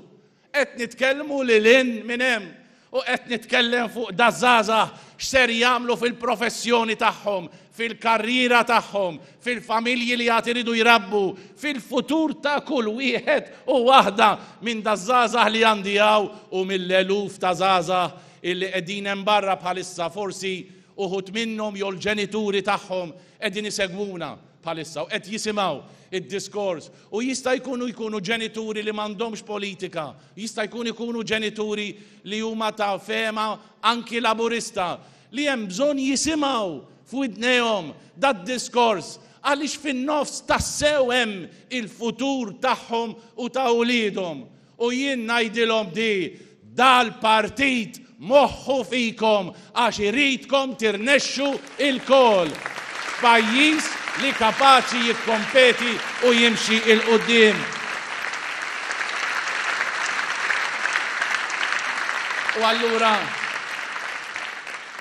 Qed nitkellmu lil hinn minn hemm u qed nitkellem fuq daż-żgħażagħ x'ser jagħmlu fil-professjoni tagħhom, fil-karriera tagħhom, fil-familji li għad iridu jrabbu, fil-futur ta' kull wieħed u waħda minn daż-żgħażagħ li għandi hawn u mill-eluf ta' żgħażagħ illi qegħdin hemm barra bħalissa, forsi uħud minnhom jew l-ġenituri tagħhom qegħdin isegwuna bħalissa u qed jisimgħu d-diskors u jista' jkunu jkunu ġenituri li m'għandhomx politika, jista' jkun ikunu ġenituri li huma ta' fehma anki Laburista, li hemm bżonn jisimgħu f'widnejhom dad-diskors għaliex fin-nofs tassew hemm il-futur tagħhom u ta' uliedhom. U jien ngħidilhom di, dal-partit moħħu fikom għax iridkom tirnexxu ilkoll f'pajjiż li kapaċi jikkompeti u jimxi 'l quddiem. U allura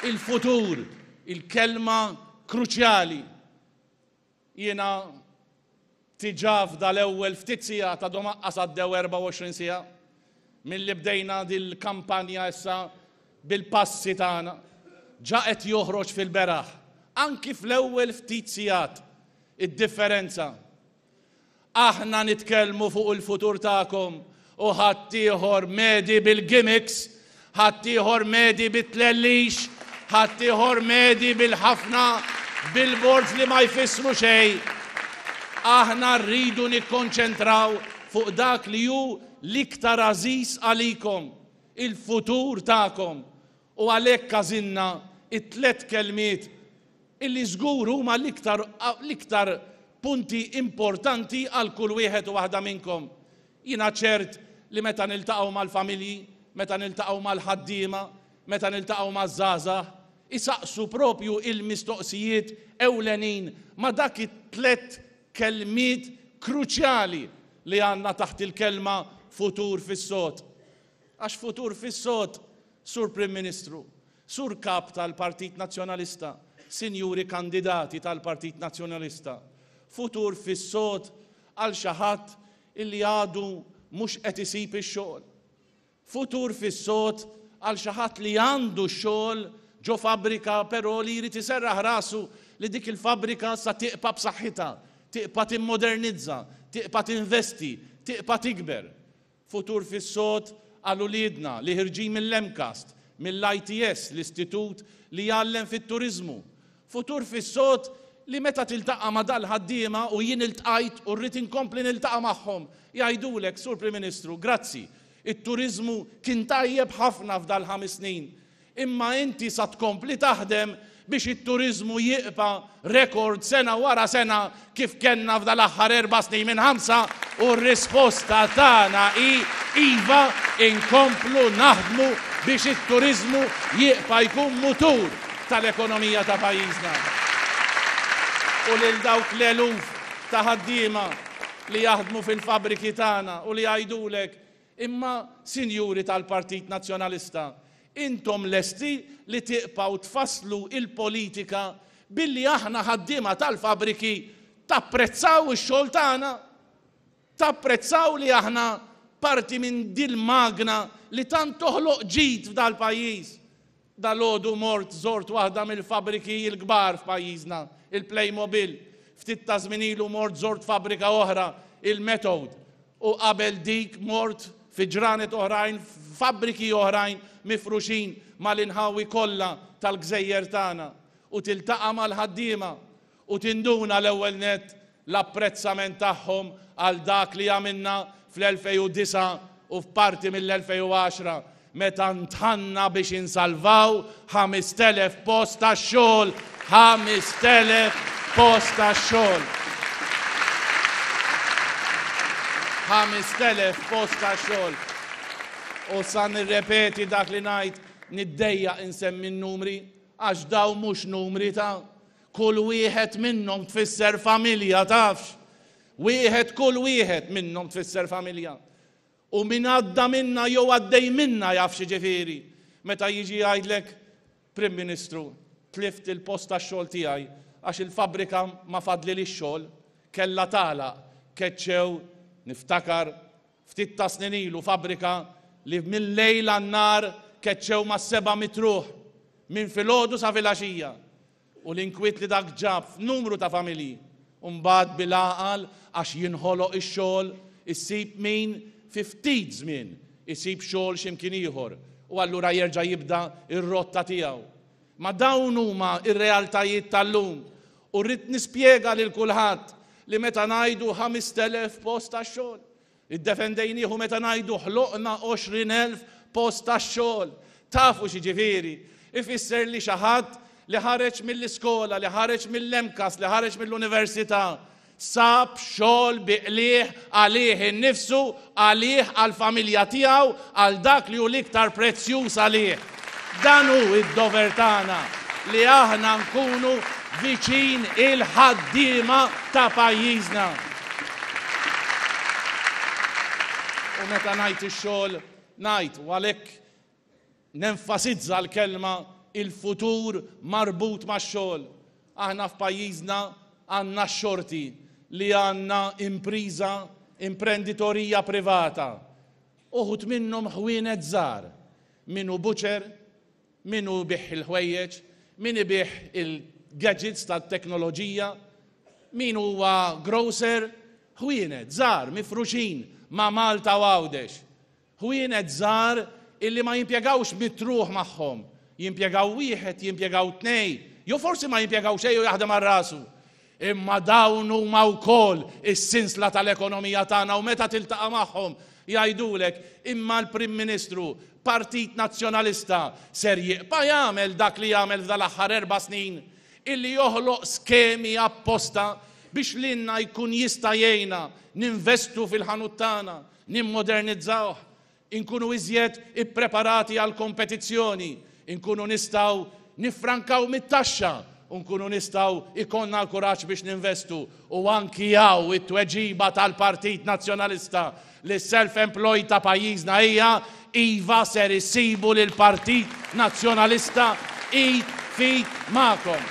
il-futur, il-kelma kruċjali. Jiena diġà f'dal-ewwel ftit sigħat għadhom aqqas għaddew 24 siegħa milli bdejna dil-kampanja issa bil-passi tagħna, ġa qed joħroġ fil-beraħ, anki fl-ewwel ftit sigħat, id-differenza. Aħna nitkellmu fuq il-futur tagħkom u ħaddieħor medi bil-gimmicks, ħaddieħor medi bit-tlellix, ħaddieħor medi bil-ħafna billboards li ma jfissru xejn. Aħna rridu nikkonċentraw fuq dak li hu l-iktar għażiż għalikom, il-futur tagħkom. U għalhekk għażilna t-tlett kelmiet illi żgur huma l-iktar l-iktar. Punti importanti għal kull wieħed u waħda minnkom. Jiena ċert li meta niltaqgħu mal-familji, meta niltaqgħu mal-ħaddiema, meta niltaqgħu maż-żgħażagħ, isaqsu propju il-mistoqsijiet ewlenin ma' dak it-tlett kelmiet kruċjali li għandna taħt il-kelma futur fis-sod. Għax futur fis-sod, Sur Prim Ministru, Sur Kap tal-Partit Nazzjonalista, Sinjuri kandidati tal-Partit Nazzjonalista, futur fis-sod għal xi ħadd illi għadu mhux qed isib ix-xogħol. Futur fis-sod għal xi ħadd li għandu x-xogħol ġo fabbrika però li jrid iserraħ rasu li dik il-fabbrika sa tiqpa' b'saħħitha, tiqpa' timmodernizza, tiqpa' tinvesti, tiqpa' tikber. Futur fis-sod għal uliedna li ħirġin mill-MCAST, mill-ITS, l-istitut li jgħallem fit-turiżmu. Futur fis-sod li meta tiltaqa' ma' dal-ħaddiema, u jien iltqajt u rrid inkompli niltaqa' magħhom, jgħidulek, Sur Prim Ministru, grazzi, it-turiżmu kien tajjeb ħafna f'dal-ħames snin, Imma inti sa tkompli taħdem biex it-turiżmu jiqpa' rekord sena wara sena kif kellna f'dal-aħħar erba' snin minn ħamsa? U r-risposta tagħna hi iva, inkomplu naħdmu biex it-turiżmu jiqpa' jkun mutur tal-ekonomija ta' pajjiżna. U lil dawk l-eluf ta' ħaddiema li jaħdmu fil-fabbriki tagħna u li jgħidulek Imma, sinjuri tal-Partit Nazzjonalista, intom lesti li tiqpgħu tfasslu il-politika billi aħna ħaddiema tal-fabbriki tapprezzaw ix-xogħol tagħna? Tapprezzaw li aħna parti minn dil-magna li tant toħloq ġid f'dal-pajjiż? Dalgħodu mort żort waħda mill-fabbriki l-kbar f'pajjiżna, il-Playmobil. Ftit ta' żmien ilu mort żort fabbrika oħra, il-Methode. U qabel dik mort fi ġranet oħrajn f'fabbriki oħrajn mifruxin mal-inħawi kollha tal-gżejjer tagħna. U tiltaqa' mal-ħaddiema u tinduna l-ewwel nett l-apprezzament tagħhom għal dak li għamilna fl-2009 u f'parti mill-2010 meta ndħalna biex insalvaw 5,000 post tax-xogħol, 5,000 post tax-xogħol. 5,000 post tax-xogħol. U sa nirrepeti dak li ngħid, niddejjaq insemmi n-numri għax dawn mhux numri ta' Kull wieħed minnhom tfisser familja, tafx? Wieħed kull wieħed minnhom tfisser familja. U min għadda minna jew għaddej minna jaf x'jiġifieri. Meta jiġi jgħidlek, Prim Ministru, tlift il-post tax-xogħol tiegħi għax il-fabbrika ma fadlilix xogħol, kellha tagħlaq, keċċew, niftakar, ftit ta' snin ilu fabbrika li mil-lejl għan-nhar keċċew mas-700 ruħ. Minn filgħodu sa filgħaxija. U l-inkwiet li dak ġab f'numru ta' familji. U mbagħad bil-għaqal għax jinħoloq ix-xogħol, issib min fi ftit żmien isib xogħol xi mkien ieħor u allura jerġa' jibda r-rotta tiegħu. Ma dawn huma r-realtajiet tal-lum u rrid nispjega lil kulħadd li meta ngħidu 5,000 post tax-xogħol, Iddefendejnieh u meta ngħidu ħloqna 20,000 post tax-xogħol, tafu x'jiġifieri? Ifisser li xi ħadd li ħareġ mill-iskola, li ħareġ mill-MCAST, li ħareġ mill-università, sab xogħol bi qligħ għalih innifsu, għalih, għall-familja tiegħu, għal dak li hu l-iktar prezzjuż għalih. Dan hu d-dover tagħna, li aħna nkunu viċin il-ħaddiema ta' pajjiżna. U meta ngħid ix-xogħol, ngħid, u għalhekk nenfasizza l-kelma il-futur marbut max-xogħol. Aħna f'pajjiżna għandna x-xorti li għandna impriża, imprenditorija privata. Uħud minnhom ħwienet żgħar Min hu butcher, min hu jbigħ il-ħwejjeġ, min ibigħ il-gadgets tat-teknoloġija, min huwa grocer, ħwienet żgħar mifruxin ma' Malta u Għawdex. Ħwienet żgħar illi ma jimpjegawx mitt ruħ magħhom, jimpjegaw wieħed, jimpjegaw tnej, jew forsi ma jimpjegaw xejn u jaħdem għal rasu. Imma dawn huma wkoll is-sinsla tal-ekonomija tagħna u meta tiltaqa' magħhom jgħidulek imma l-Prim Ministru, Partit Nazzjonalista, ser jiqpa' jagħmel dak li għamel f'dal-aħħar erba' snin, illi joħloq skemi apposta biex lilna jkun jista' jgħinna ninvestu fil-ħanut tagħna, nimmodernizzawh, inkunu iżjed ippreparati għall-kompetizzjoni, inkunu nistgħu niffrankaw mit-taxxa u nkunu nistgħu jkollna l-kuraġġ biex ninvestu. U anki hawn it-tweġiba tal-Partit Nazzjonalista lis-self-employed ta' pajjiżna hija iva ser issibu lill-Partit Nazzjonalista id f'id magħkom.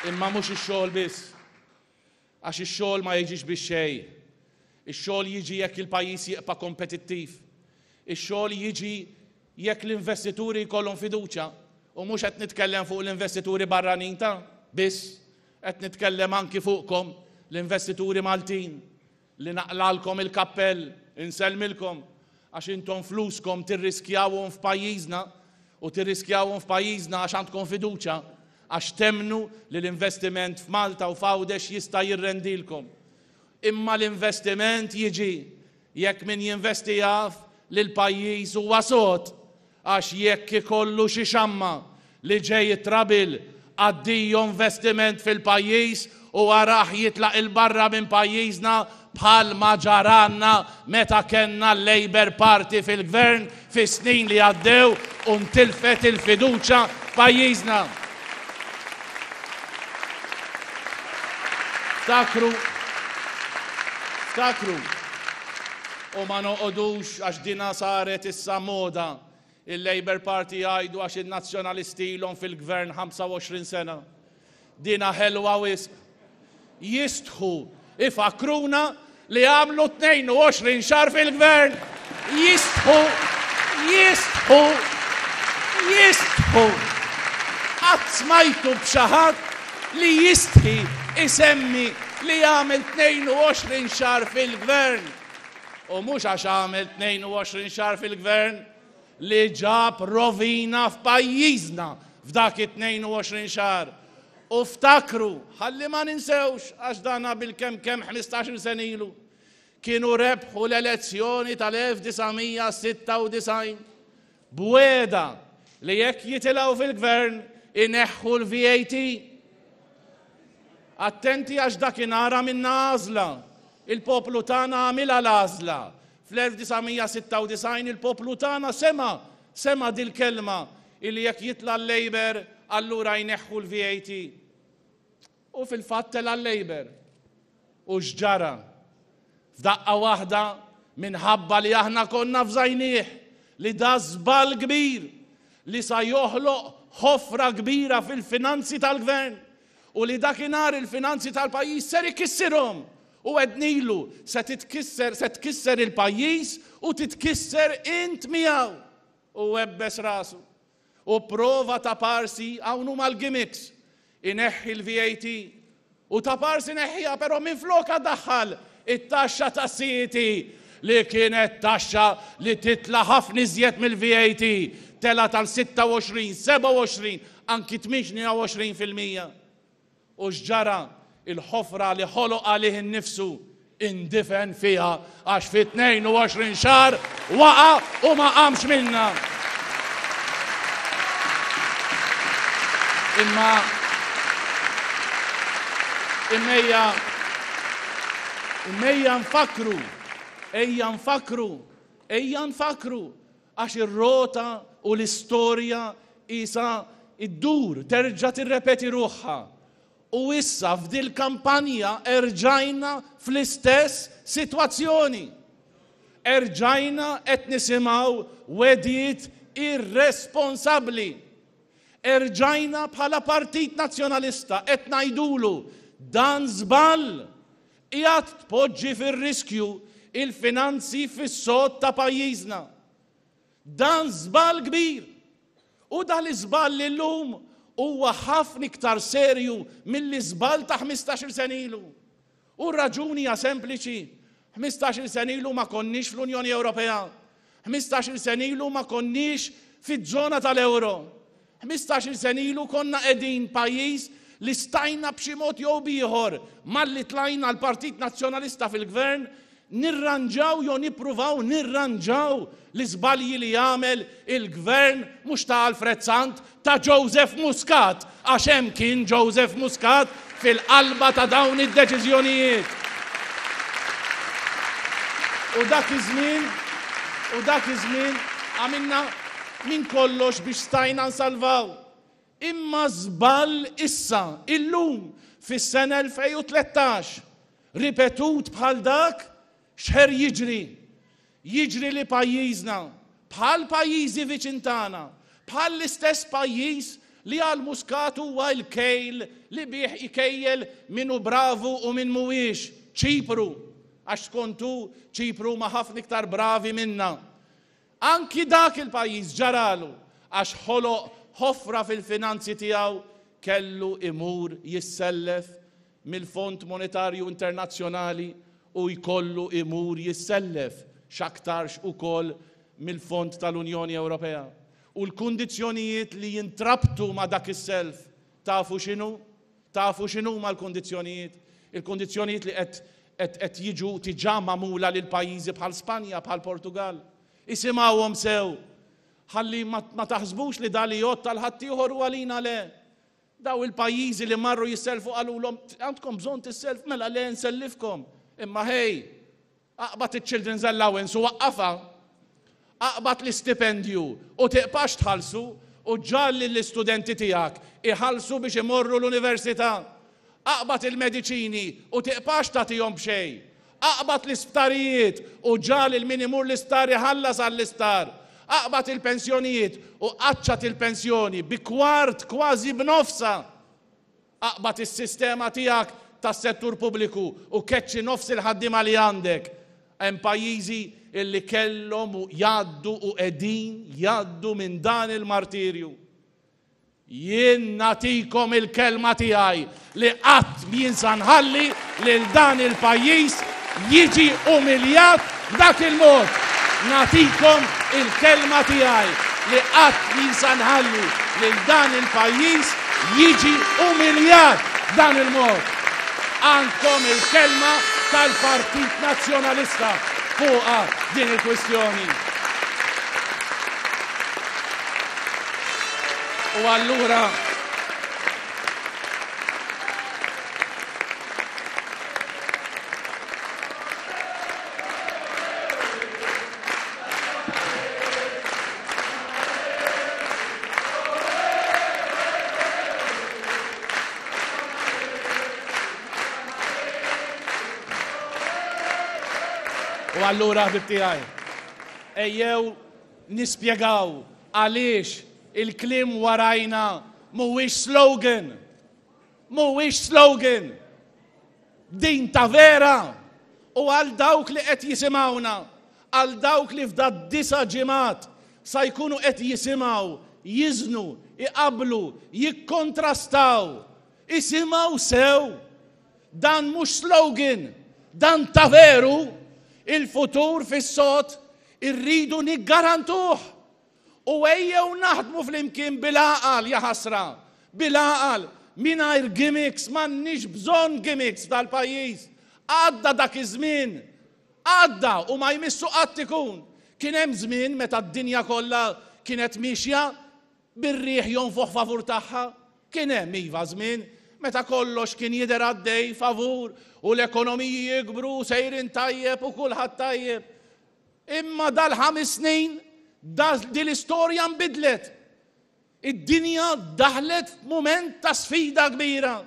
Imma mhux ix-xogħol biss. Għax ix-xogħol ma jiġix bix-xejn. Ix-xogħol jiġi jekk il-pajjiż jibqa' kompetittiv. Ix-xogħol jiġi jekk l-investituri jkollhom fiduċja. U mhux qed nitkellem fuq l-investituri barranin ta' biss, qed nitkellem anki fuqkom l-investituri Maltin li naqlalkom il-kappell, insellmilkom, għax intom fluskom tirriskjawhom f'pajjiżna u tirriskjawhom f'pajjiżna għax għandkom fiduċja, għax temmnu li l-investiment f'Malta u f'Għawdex jista' jirrendilkom. Imma l-investiment jiġi jekk min jinvesti jaf li l-pajjiż huwa sod Għax jekk ikollu xi xamma li ġej it-trouble, addio investiment fil-pajjiż u arah jitlaq 'il barra minn pajjiżna bħal ma ġaralna meta kellna l-Labour Party fil-Gvern fis-snin li għaddew u ntilfet il-fiduċja f'pajjiżna. Ftakru, ftakru, u ma noqogħdux għax dina saret issa moda, il-Labour Party jgħidu għax in-Nazzjonalisti ilhom fil-Gvern 25 sena. Dina ħelwa wisq. Jistħu ifakkruna li għamlu 22 xahar fil-gvern. Jistħu, jistħu, jistħu. Qatt smajtu b'xi ħadd li jistħi isemmi li għamel 22 xahar fil-gvern. U mhux għax għamel 22 xahar fil-gvern li ġab rovina f'pajjiżna f'dak it-22 xahar. U ftakru, ħalli ma ninsewx, għax dana bilkemm kemm 15-il sena ilu, kienu rebħu l-elezzjoni tal-1996 b'wegħda li jekk jitilgħu fil-gvern ineħħu l-VAT. Attenti għax dakinhar għamilna għażla. Il-poplu tagħna għamilha l-għażla. Fl-1996 il-poplu tagħna sema' sema' dil-kelma illi jekk jitla' l-Labour allura jneħħu l-VAT. U fil-fatt tela' l-Labour. U x'ġara? F'daqqa waħda minħabba li aħna konna fżajnieh li da żball kbir li sa joħloq ħofra kbira fil-finanzi tal-gvern u li dakinhar il-finanzi tal-pajjiż ser ikissirhom u għednilu se titkisser se tkisser il-pajjiż u titkisser int miegħu. U webbes rasu. U prova ta' parsi hawn huma l-gimmicks. Ineħħi l-VAT. U ta' parsi neħħiha però minflokha daħħal it-taxxa tas-CET li kienet taxxa li titla' ħafna iżjed mill-VAT, telgħet għal 26, 27, anki 28%. U x'ġara? Il-ħofra li ħoloq għalih innifsu indifen fiha għax fi 22 xahar waqa' u ma qamx minnha. Imma imma ejja imma ejja nfakkru, ejja nfakkru, ejja nfakkru għax ir-rota u l-istorja qisha ddur, terġa' tirrepeti ruħha. U issa f'dil-kampanja erġajna fl-istess sitwazzjoni. Erġajna qed nisimgħu wegħdiet irresponsabbli. Erġajna bħala Partit Nazzjonalista qed ngħidulu dan żball, qiegħed tpoġġi fir-riskju il-finanzi fis-sod ta' pajjiżna. Dan żball kbir. U dan l-iżball illum huwa ħafna iktar serju mill-iżball ta' ħmistax-il sena ilu. U r-raġuni hija sempliċi, ħmistax-il sena ilu ma konniex fl-Unjoni Ewropea. Ħmistax-il sena ilu ma konniex fiż-żona tal-euro. Ħmistax-il sena ilu konna qegħdin pajjiż li stajna b'xi mod jew b'ieħor malli tlajna l-Partit Nazzjonalista fil-Gvern. nirranġaw jew nippruvaw nirranġaw l-iżbalji li għamel il-Gvern mhux ta' Alfred Sant, ta' Joseph Muscat, għax hemm kien Joseph Muscat fil-qalba ta' dawn id-deċiżjonijiet. U dak iż-żmien, u dak iż-żmien għamilna minn kollox biex stajna nsalvaw. Imma żball issa, illum, fis-sena 2013, Ripetut bħal dak, x'ħer jiġri? Jiġri li pajjiżna, bħal pajjiżi viċin tagħna, bħal l-istess pajjiż li għal Muscat huwa l-kejl li bih ikejjel min hu bravu u min mhuwiex, Ċipru, għax skont hu Ċipru huma ħafna iktar bravi minna. Anki dak il-pajjiż ġaralu għax ħoloq ħofra fil-finanzi tiegħu kellu imur jissellef mill-Fond Monetarju Internazzjonali u jkollu imur jissellef x'aktarx ukoll mill-Fond tal-Unjoni Ewropea. U l-kundizzjonijiet li jintrabtu ma' dak is-self tafu x'inhu? Tafu x'inhuma l-kundizzjonijiet? Il-kundizzjonijiet li qed qed qed jiġu diġà magħmula lil pajjiżi bħal Spanja, bħal Portugall. Isimgħuhom sew ħalli ma ma taħsbux li da li jgħodd għal ħaddieħor u għalina le. Daw il-pajjiżi li marru jissellfu qalulhom għandkom bżonn tisself mela le nsellifkom. Imma ħej, aqbad iċ-children's allowance u waqqafha. Aqbad l-istipendju u tiqpax tħallsu u ġagħal lill-istudenti tiegħek iħallsu biex imorru l-università. Aqbad il-mediċini u tiqpax tagħtihom b'xejn. Aqbad l-isptarijiet u ġagħal lil min imur l-isptar iħallas għall-isptar. Aqbad il-pensjonijiet u qaċċat il-pensjoni bi kwart, kważi b'nofsha. Aqbad is-sistema tiegħek tas-settur pubbliku u keċċi nofs il-ħaddiema li għandek. Hemm pajjiżi li kellhom jgħaddu u qegħdin jgħaddu minn dan il-martirju. Jien nagħtikom il-kelma tiegħi li qatt m'jien sa nħalli lil dan il-pajjiż jiġi umiljat b'dak il-mod. Nagħtikom il-kelma tiegħi li qatt m'jien sa nħalli lil dan il-pajjiż jiġi umiljat b'dan il-mod. Għandkom il-kelma tal-Partit Nazzjonalista fuqha din il-kwistjoni. U allura U allura ħbib tiegħi, ejjew nispjegaw għaliex il-kliem warajna mhuwiex slogan. Mhuwiex slogan. Din ta' vera. U għal dawk li qed jisimgħuna, għal dawk li f'da disa ġimgħat sa jkunu qed jisimgħu, jiżnu, iqablu, jikkontrastaw, isimgħu sew. Dan mhux slogan, dan ta' veru, il-futur fis-sod irridu niggarantuh. U ejjew naħdmu flimkien bil-għaqal, jaħasra, bil-għaqal, mingħajr gimmicks, m'għandniex bżonn gimmicks f'dal-pajjiż. Għadda dak iż-żmien, għadda u ma jmissu qatt ikun. Kien hemm żmien meta d-dinja kollha kienet miexja bir-riħ jonfoħ favur tagħha. Kien hemm, iva, żmien meta kollox kien jidher għaddej favur u l-ekonomiji jikbru u sejrin tajjeb u kulħadd tajjeb. Imma dal-ħames snin din l-istorja nbidlet. Id-dinja daħlet f'mument ta' sfida kbira.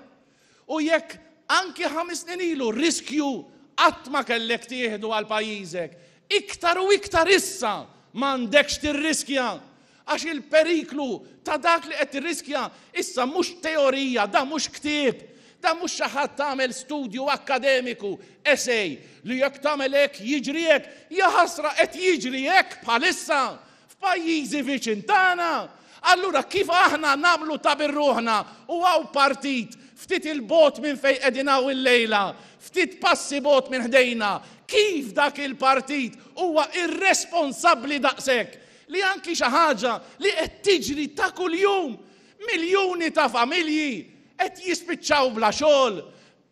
U jekk anki ħames snin ilu riskju qatt ma kellek tieħdu għal pajjiżek, iktar u iktar issa m'għandekx tirriskja. Għax il-periklu ta' dak li qed tirriskja issa mhux teorija, dan mhux ktieb, dan mhux xi ħadd għamel studju akkademiku, essay, li jekk tagħmel hekk jiġri hekk. Jaħasra qed jiġri hekk bħalissa f'pajjiżi viċin tagħna. Allura kif aħna nagħmlu ta' bir-ruħna u hawn partit ftit 'il bogħod minn fejn qegħdin hawn illejla, ftit passi bogħod minn ħdejna, kif dak il-partit huwa irresponsabbli daqshekk li anki xi ħaġa li qed tiġri ta' kuljum, miljuni ta' familji qed jispiċċaw bla xogħol.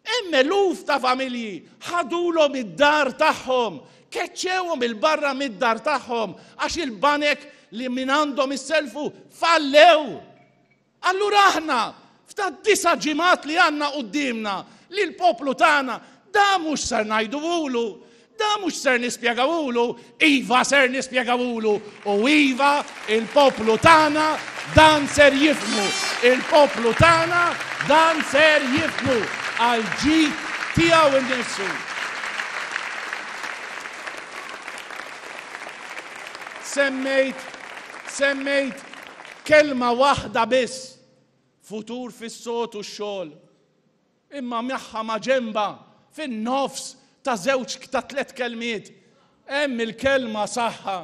Hemm eluf ta' familji ħadulhom id-dar tagħhom, keċċewhom 'il barra mid-dar tagħhom għax il-banek li minn għandhom isselfu fallew. Allura aħna f'ta' disa' ġimgħat li għandna quddiemna li l-poplu tagħna da mhux ser ngħiduhulu, Da mhux ser nispjegawulu, iva ser nispjegawulu u iva il-poplu tagħna dan ser jifhmu, il-poplu tagħna dan ser jifhmu għall-ġid tiegħu nnifsu. Semmejt, semmejt kelma waħda biss, futur fis-sod u x-xogħol. Imma magħha maġenbha, fin-nofs ta' żewġ ta' tlett kelmiet, hemm il-kelma saħħa.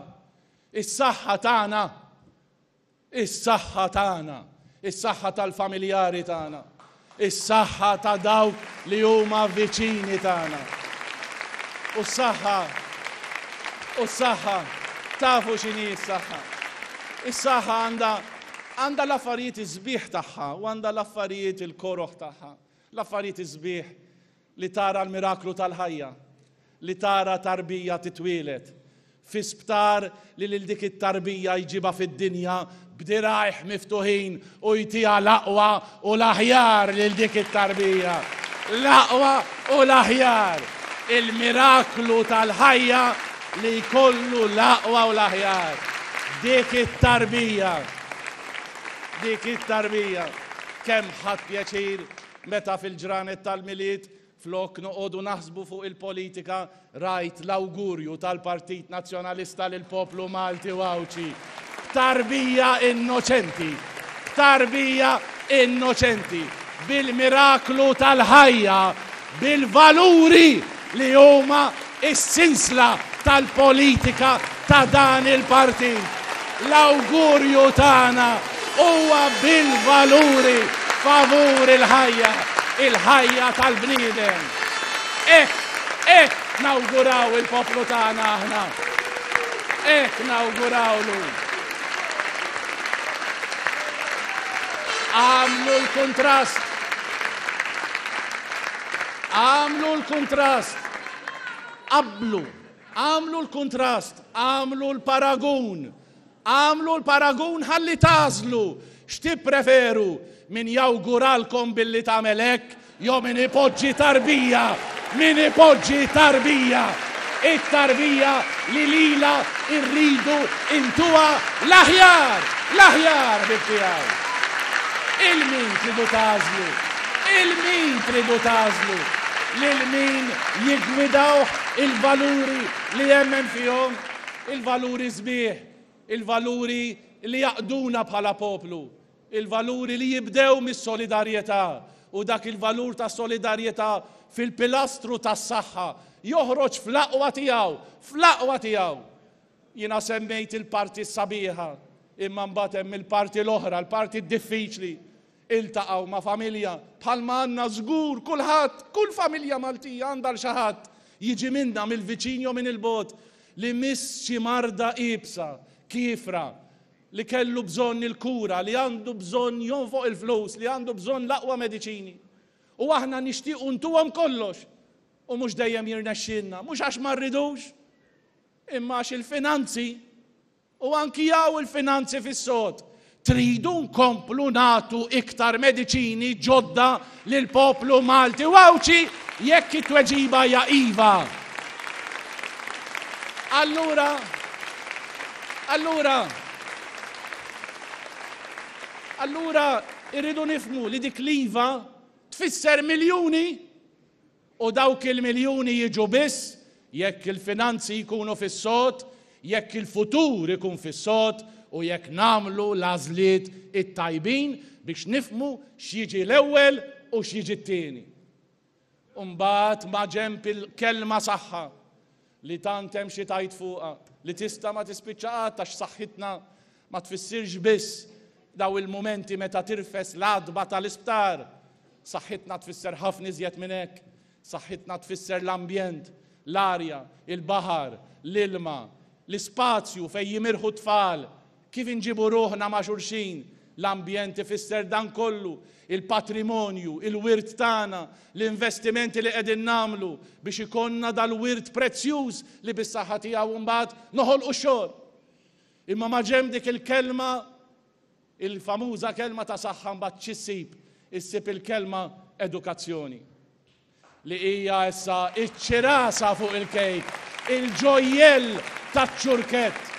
Is-saħħa tagħna. Is-saħħa tagħna. Is-saħħa tal-familjari tagħna. Is-saħħa ta' dawk li huma viċini tagħna. U s-saħħa, u s-saħħa, tafu x'inhi s-saħħa. Is-saħħa għandha Għandha l-affarijiet is-sbieħ tagħha u għandha l-affarijiet il-koroh tagħha. L-affarijiet is-sbieħ li tara l-miraklu tal-ħajja, li tara tarbija titwieled fi sptar li lil dik it-tarbija jġibha fid-dinja b'dirgħajh miftuħin u jtiha l-aqwa u l-aħjar lil dik it-tarbija. L-aqwa u l-aħjar. Il-miraklu tal-ħajja li jkollu l-aqwa u l-aħjar. Dik it-tarbija. Dik it-tarbija. Kemm ħadt pjaċir meta fil-ġranet tal-Milied flok noqogħdu naħsbu fuq il-politika rajt l-awgurju tal-Partit Nazzjonalista lill-poplu Malti u Għawdxi. B'tarbija innoċenti. B'tarbija innoċenti. Bil-miraklu tal-ħajja. Bil-valuri li huma s-sinsla tal-politika ta' dan il-partit. L-awgurju tagħna huwa bil-valuri favur il-ħajja, il-ħajja tal-bniedem. Hekk, hekk nawguraw il-poplu tagħna aħna. Hekk nawgurawlu. Għamlu l-kuntrast. Għamlu l-kuntrast. Qabblu, agħmlu l-kuntrast, agħmlu l-paragun. Agħmlu l-paragun ħalli tagħżlu x'tippreferu, min jawguralkom billi tagħmel hekk jew min ipoġġi tarbija, min ipoġġi tarbija. It-tarbija li lilha rridu ntuha l-aħjar, l-aħjar ħbieb tiegħi. Il min tridu tagħżlu? Il min tridu tagħżlu? Lil min jiggwidawh il-valuri li jemmen fihom, il-valuri sbieħ, il-valuri li jgħaqqduna bħala poplu, il-valuri li jibdew mis-solidarjetà u dak il-valur ta' solidarjetà fil-pilastru tas-saħħa joħroġ fl-aqwa tiegħu, fl-aqwa tiegħu. Jiena semmejt il-parti s-sabiħa, imma mbagħad hemm il-parti l-oħra, l-parti d-diffiċli. Iltaqgħu ma' familja bħalma għandna żgur kulħadd, kull familja Maltija għandha 'l xi ħadd jiġi minnha mill-viċin jew minn il-bogħod li miss xi marda iebsa, kiefra, li kellu bżonn il-kura, li għandu bżonn jonfoq il-flus, li għandu bżonn l-aqwa mediċini. U aħna nixtiequ ntuhom kollox u mhux dejjem jirnexxielna, mhux għax ma rridux, imma għax il-finanzi U anki hawn il-finanzi fis-sod. Tridu nkomplu nagħtu iktar mediċini ġodda lill-poplu Malti u Għawdxi jekk it-tweġiba hija iva. Allura, allura, allura irridu nifhmu li dik l-iva tfisser miljuni U dawk il-miljuni jiġu biss jekk il-finanzi jkunu fis-sod, jekk il-futur ikun fis-sod u jekk nagħmlu l-għażliet it-tajbin biex nifhmu x'jiġi l-ewwel u x'jiġi t-tieni. U mbagħad maġenb il-kelma saħħa li tant hemm xi tgħid fuqha, li tista' ma tispiċċa qatt għax saħħitna ma tfissirx biss daw il-mumenti meta tirfes l-għatba tal-isptar. Saħħitna tfisser ħafna iżjed minn hekk. Saħħitna tfisser l-ambjent, l-arja, il-baħar, l-ilma, l-ispazju fejn jimirħu t-tfal, kif inġibu ruħna ma' xulxin. L-ambjent ifisser dan kollu, il-patrimonju, il-wirt tagħna, l-investimenti li qegħdin nagħmlu biex ikollna dal-wirt prezzjuż li bis-saħħa tiegħu mbagħad noħolqu x-xogħol. Imma maġenb dik il-kelma, il-famuża kelma ta' saħħa mbagħad x'issib? Issib il-kelma edukazzjoni. Li hija issa ċ-ċirasa fuq il-kejk, il-ġojjell taċ-ċurkett.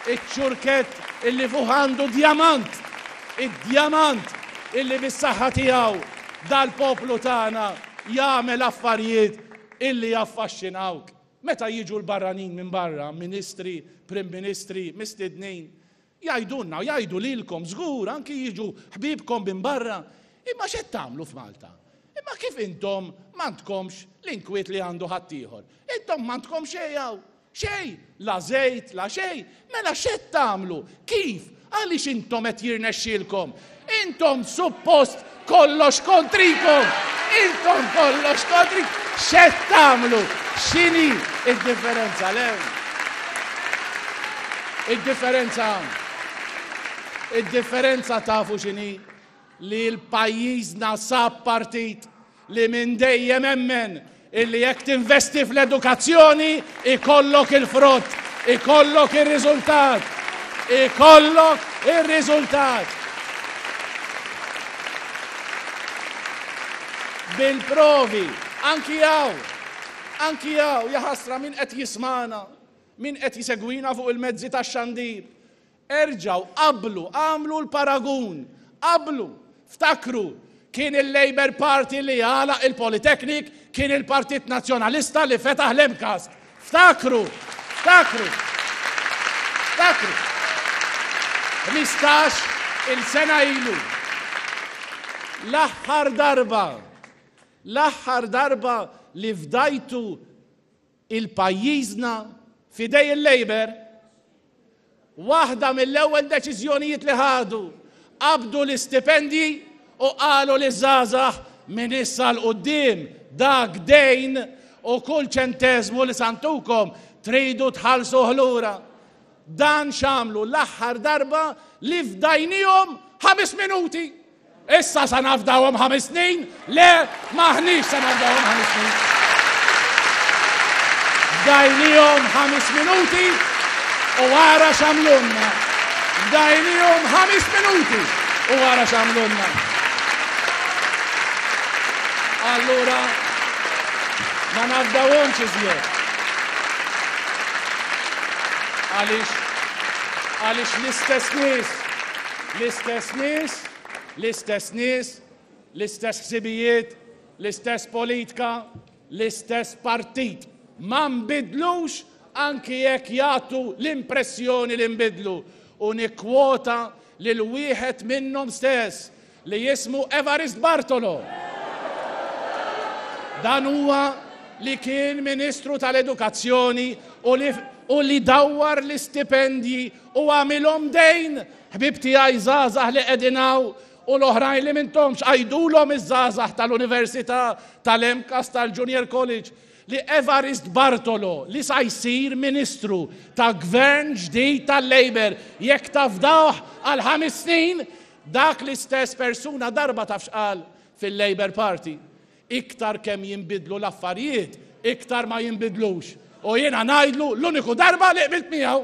Iċ-ċurkett illi fuq għandu djamant, id-djamant illi bis-saħħa tiegħu dal-poplu tagħna jagħmel affarijiet illi jaffaxxinawk. Meta jiġu l-barranin minn barra, ministri, prim ministri, mistednin, Jgħidulna u jgħidu lilkom żgur anki jiġu ħbiebkom minn barra, imma x'qed tagħmlu f'Malta? Imma kif intom m'għandkomx l-inkwiet li għandu ħaddieħor? Intom m'għandkom xejn hawn, xejn, la żejt, la xejn, mela x'qed tagħmlu? Kif? Għaliex intom qed jirnexxielkom? Intom suppost kollox kontrikom! Intom kollox kontrikom! X'qed tagħmlu? X'inhi d-differenza le? Id-differenza Id-differenza tafu x'inhi? Li l-pajjiżna sab partit li minn dejjem emmen illi jekk tinvesti fl-edukazzjoni ikollok il-frott, ikollok ir-riżultat, ikollok ir-riżultat. Bil-provi, anki hawn, anki hawn, jaħasra min qed jismagħna, min qed jsegwina fuq il-mezzi tax-xandir, Erġgħu qabblu, agħmlu l-paragun, qabblu. Ftakru, kien il-Labour Party li għalaq il-Polytechnic, kien il-Partit Nazzjonalista li fetaħ l-MCAST. Ftakru, ftakru, ftakru. 15 il-sena ilu. L-aħħar darba, l-aħħar darba li fdajtu il-pajjiżna f'idej il-Labour, waħda mill-ewwel deċiżjonijiet li ħadu, qabdu l-istipendji u qalu liż-żgħażagħ minn issa 'l quddiem dak dejn u kull ċenteżmu li santukom tridu tħallsuh lura. Dan x'għamlu l-aħħar darba li fdajniehom ħames minuti. Issa sa nafdawhom ħames snin? Le, m'aħniex sa nafdawhom ħames snin. Fdajnihom ħames minuti u ara x'għamlulna. Fdajnihom ħames minuti u ara x'għamlulna. Allura ma nafdawhomx iżjed. Għaliex għaliex l-istess nies, l-istess nies L-istess nies, l-istess ħsibijiet, l-istess politka, l-istess partit. Ma nbidlux anki jekk jagħtu l-impressjoni li nbidlu. U nikkwota lil wieħed minnhom stess li jismu Evarist Bartolo. Dan huwa li kien Ministru tal-Edukazzjoni u li u li dawwar l-istipendji u għamilhom dejn Ħbieb tiegħi żgħażagħ li qegħdin hawn u l-oħrajn li m'intomx, għidulhom iż-żgħażagħ tal-Università, tal-MCAST, tal-Junior College, li Evarist Bartolo li sa jsir Ministru ta' Gvern ġdid tal-Labour jekk tafdawh għal ħames snin, dak l-istess persuna darba taf x'qal fil-Labour Party. Iktar kemm jinbidlu l-affarijiet, iktar ma jinbidlux. U jiena ngħidlu l-uniku darba li qbilt miegħu.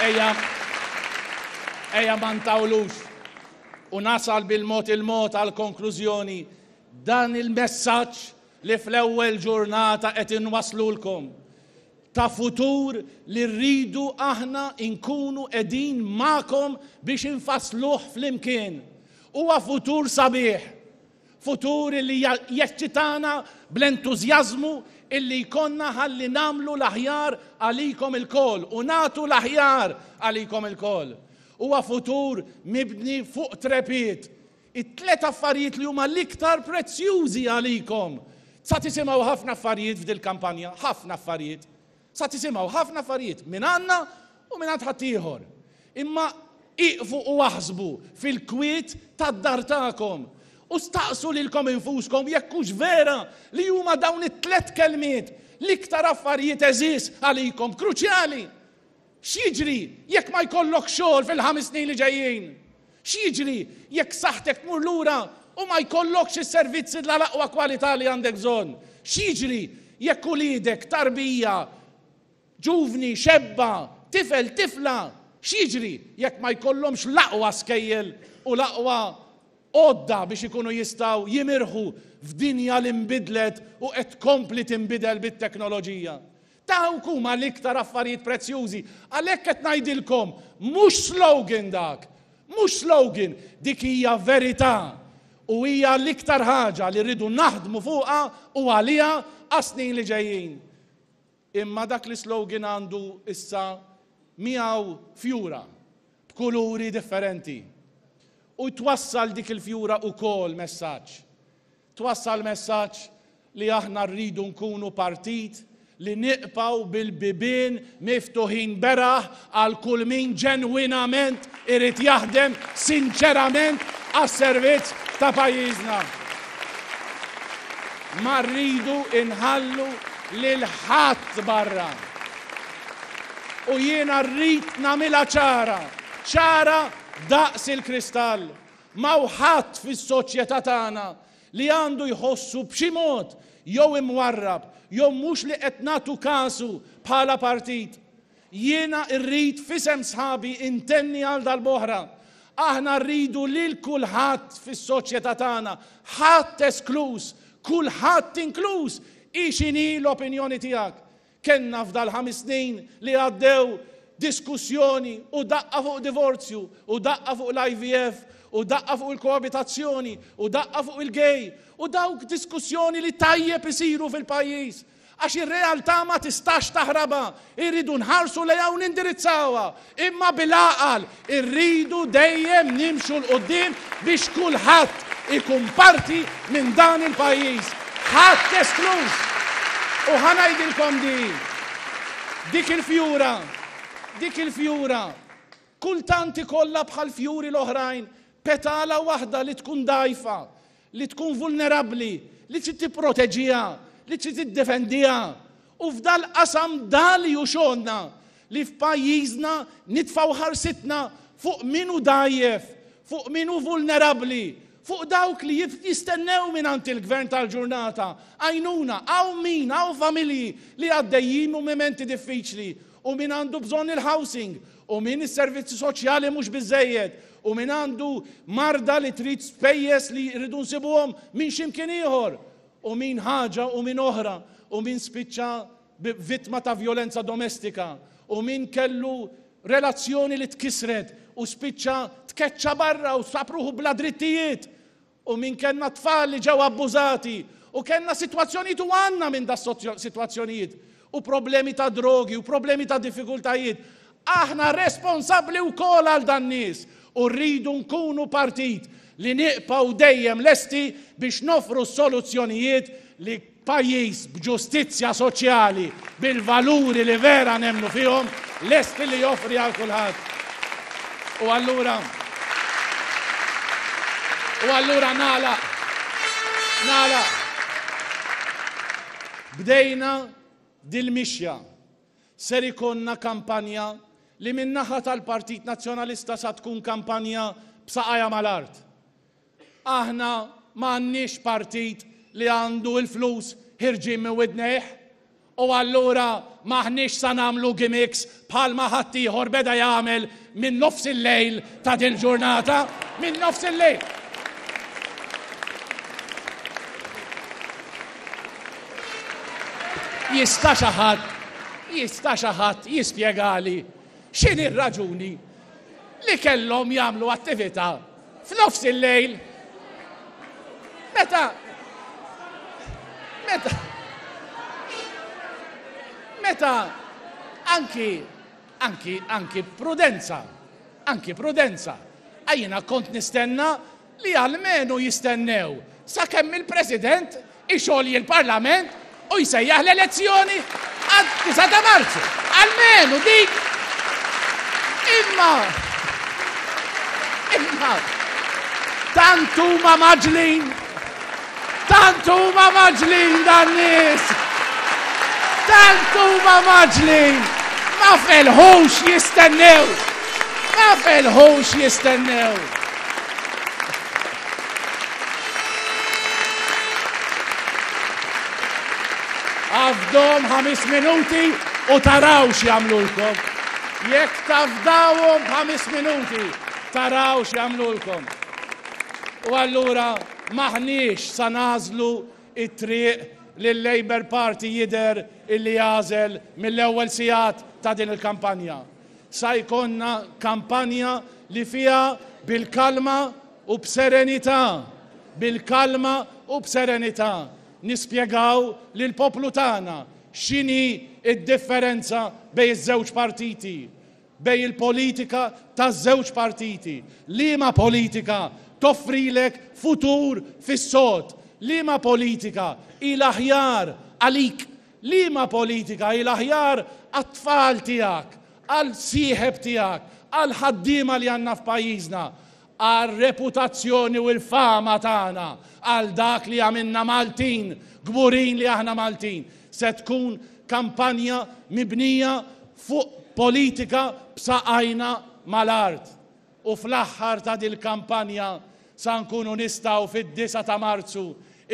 Ejja, ejja ma ntawlux u nasal bil-mod il-mod għal konklużjoni dan il-messaġġ li fl-ewwel ġurnata qed inwasslulkom, ta' futur li rridu aħna nkunu qegħdin magħkom biex infassluh flimkien. Huwa futur sabiħ, futur li jeċċitana bl-entużjażmu illi jkollna ħalli nagħmlu l-aħjar għalikom ilkoll u nagħtu l-aħjar għalikom ilkoll. Huwa futur mibni fuq trepied It-tlet affarijiet li huma l-iktar prezzjużi għalikom. Sa tisimgħu ħafna affarijiet f'dil-kampanja, ħafna affarijiet. Sa tisimgħu ħafna affarijiet minn għandna u minn għand ħaddieħor. Imma ieqfu u aħsbu fil-kwiet tad-dar tagħkom. U staqsu lilkom infuskom jekk hux vera li huma dawn it-tlett kelmiet l-iktar affarijiet għeżież għalikom, kruċjali. X'jiġri jekk ma jkollokx xogħol fil-ħames snin li ġejjin? X'jiġri jekk saħħtek tmur lura u ma jkollokx is-servizzi tal-aqwa kwalità li għandek bżonn? X'jiġri jekk uliedek, tarbija, ġuvni, xebba, tifel, tifla, x'jiġri jekk ma jkollhomx l-aqwa skejjel u l-aqwa għodda biex ikunu jistgħu jimirħu f'dinja li nbidlet u qed tkompli tinbidel bit-teknoloġija? Dawk huma l-iktar affarijiet prezzjużi. Għalhekk qed ngħidilkom, mhux slogan dak, mhux slogan, dik hija verità u hija l-iktar ħaġa li rridu naħdmu fuqha u għaliha għas-snin li ġejjin. Imma dak l-islogan għandu issa miegħu fjura b'kuluri differenti. U twassal dik il-fjura ukoll messaġġ. Twassal messaġġ li aħna rridu nkunu partit li niqpgħu bil-bibien miftuħin beraħ għal kull min ġenwinament irid jaħdem sinċerament għas-servizz ta' pajjiżna. Ma rridu nħallu lil ħadd barra. U jiena rrid nagħmilha ċara, ċara daqs il-kristall. M'hawn ħadd fis-soċjetà tagħna li għandu jħossu b'xi mod jew imwarrab jew mhux li qed nagħtu kasu bħala partit. Jiena rrid f'isem sħabi intenni għal darb'oħra, aħna rridu lil kulħadd fis-soċjetà tagħna, ħadd eskluż, kulħadd inkluż, hi x'inhi l-opinjoni tiegħek. Kellna f'dal-ħames snin li għaddew diskussjoni u daqqa fuq divorzju u daqqa fuq l-IVF u daqqa fuq il-koabitazzjoni u daqqa fuq il-gay u dawk diskussjoni li tajjeb isiru fil-pajjiż għax ir-realtà ma tistax taħrabha, irridu nħarsu lejha u nindirizzawha, imma bil-għaqal irridu dejjem nimxu 'l quddiem biex kulħadd ikun parti minn dan il-pajjiż, ħadd eskluż! U ħa ngħidilkom di, dik il-fjura, dik il-fjura, kultant ikollha bħall-fjuri l-oħrajn petala waħda li tkun dgħajfa, li tkun vulnerabbli, li trid tipproteġiha, li trid tiddefendiha. U f'dal-qasam dan li hu xogħolna, li f'pajjiżna nitfgħu ħarsitna fuq min hu dgħajjef, fuq min hu vulnerabbli, fuq dawk li jistennew mingħand il-Gvern tal-ġurnata għajnuna. Hawn min, hawn familji li għaddejjin minn mumenti diffiċli u min għandu bżonn il-housing u min is-servizzi soċjali mhux biżżejjed u min għandu marda li trid spejjeż li rridu nsibuhom minn xi mkien ieħor u min ħaġa u min oħra u min spiċċa vittma ta' vjolenza domestika u min kellu relazzjoni li tkissret u spiċċa tkeċċa barra u sab ruħu bla drittijiet u min kellna tfal li ġew abbużati u kellna sitwazzjonijiet u għandna minn da sitwazzjonijiet u problemi ta' drogi u problemi ta' diffikultajiet. Aħna responsabbli wkoll għal dan nies u rridu nkunu partit li niqpaw dejjem lesti biex nofru soluzzjonijiet li pajjiż b'ġustizzja soċjali, bil-valuri li vera nemmnu fihom, lesti li joffri għal kulħadd. U allura U allura nagħlaq nagħlaq. Bdejna dil-mixja. Ser ikollna kampanja li min-naħa tal-Partit Nazzjonalista sa tkun kampanja b'saqajha mal-art. Aħna ma għandniex partit li għandu l-flus ħirġin minn widnejh u allura m'aħniex sa nagħmlu gimmicks bħalma ħaddieħor beda jagħmel minn nofs il-lejl ta' dil-ġurnata, minn nofs il-lejl. Jista' xi ħadd, jista' xi ħadd jispjegali x'inhi r-raġuni li kellhom jagħmlu attività F'nofs il-lejl, meta meta meta anki anki anki prudenza, anki prudenza. Għajjina kont nistenna li almenu jistennew sakemm il-President ixolji l-Parlament u jsejjaħ l-elezzjoni għad-9 ta' Marzu. Almenu dik. Imma imma. Tant huma mgħaġġlin! Tant huma mgħaġġlin dan-nies! Tant huma mgħaġġlin! Ma felħux jistennew! Ma felħux jistennew! Għafdom ħamis minuti u taraw x'jagħmlulkom. Jekk tafdawhom b'ħames minuti, taraw x'jagħmlulkom. U allura m'aħniex sa nagħżlu t-triq li l-Labour Party jidher illi għażel mill-ewwel sigħat ta' din il-kampanja. Sa jkollna kampanja li fiha bil-kalma u b'serenità, bil-kalma u b'serenità nispjegaw lill-poplu tagħna x'inhi d-differenza bejn iż-żewġ partiti, bejn il-politika taż-żewġ partiti, liema politika toffrilek futur fis-sod, liema politika hi l-aħjar għalik, liema politika hi l-aħjar għat-tfal tiegħek, għall-sieħeb tiegħek, għall-ħaddiema li għandna f'pajjiżna, għar-reputazzjoni u l-fama tagħna, għal dak li jagħmilna Maltin, kburin li aħna Maltin. Se tkun kampanja mibnija fuq politika b'saqajna mal-art. U fl-aħħar ta' dil-kampanja sa nkunu nistgħu fid-disgħa ta' Marzu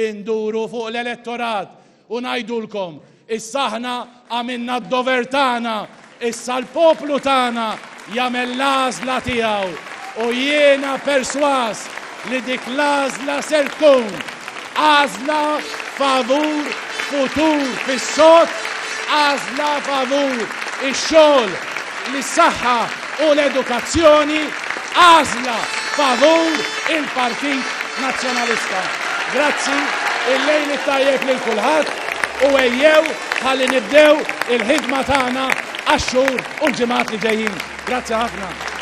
induru fuq l-elettorat u ngħidulkom, issa aħna għamilna d-dover tagħna, issa l-poplu tagħna jagħmel l-għażla tiegħu u jiena persważ li dik l-għażla ser tkun għażla favur futur fis-sod, għażla favur ix-xogħol, lis-saħħa u l-edukazzjoni, għażla favur il-Partit Nazzjonalista. Grazzi, il-lejl it-tajjeb lil kulħadd u ejjew ħalli nibdew il-ħidma tagħna għax-xhur u l-ġimgħat li ġejjin. Grazzi ħafna.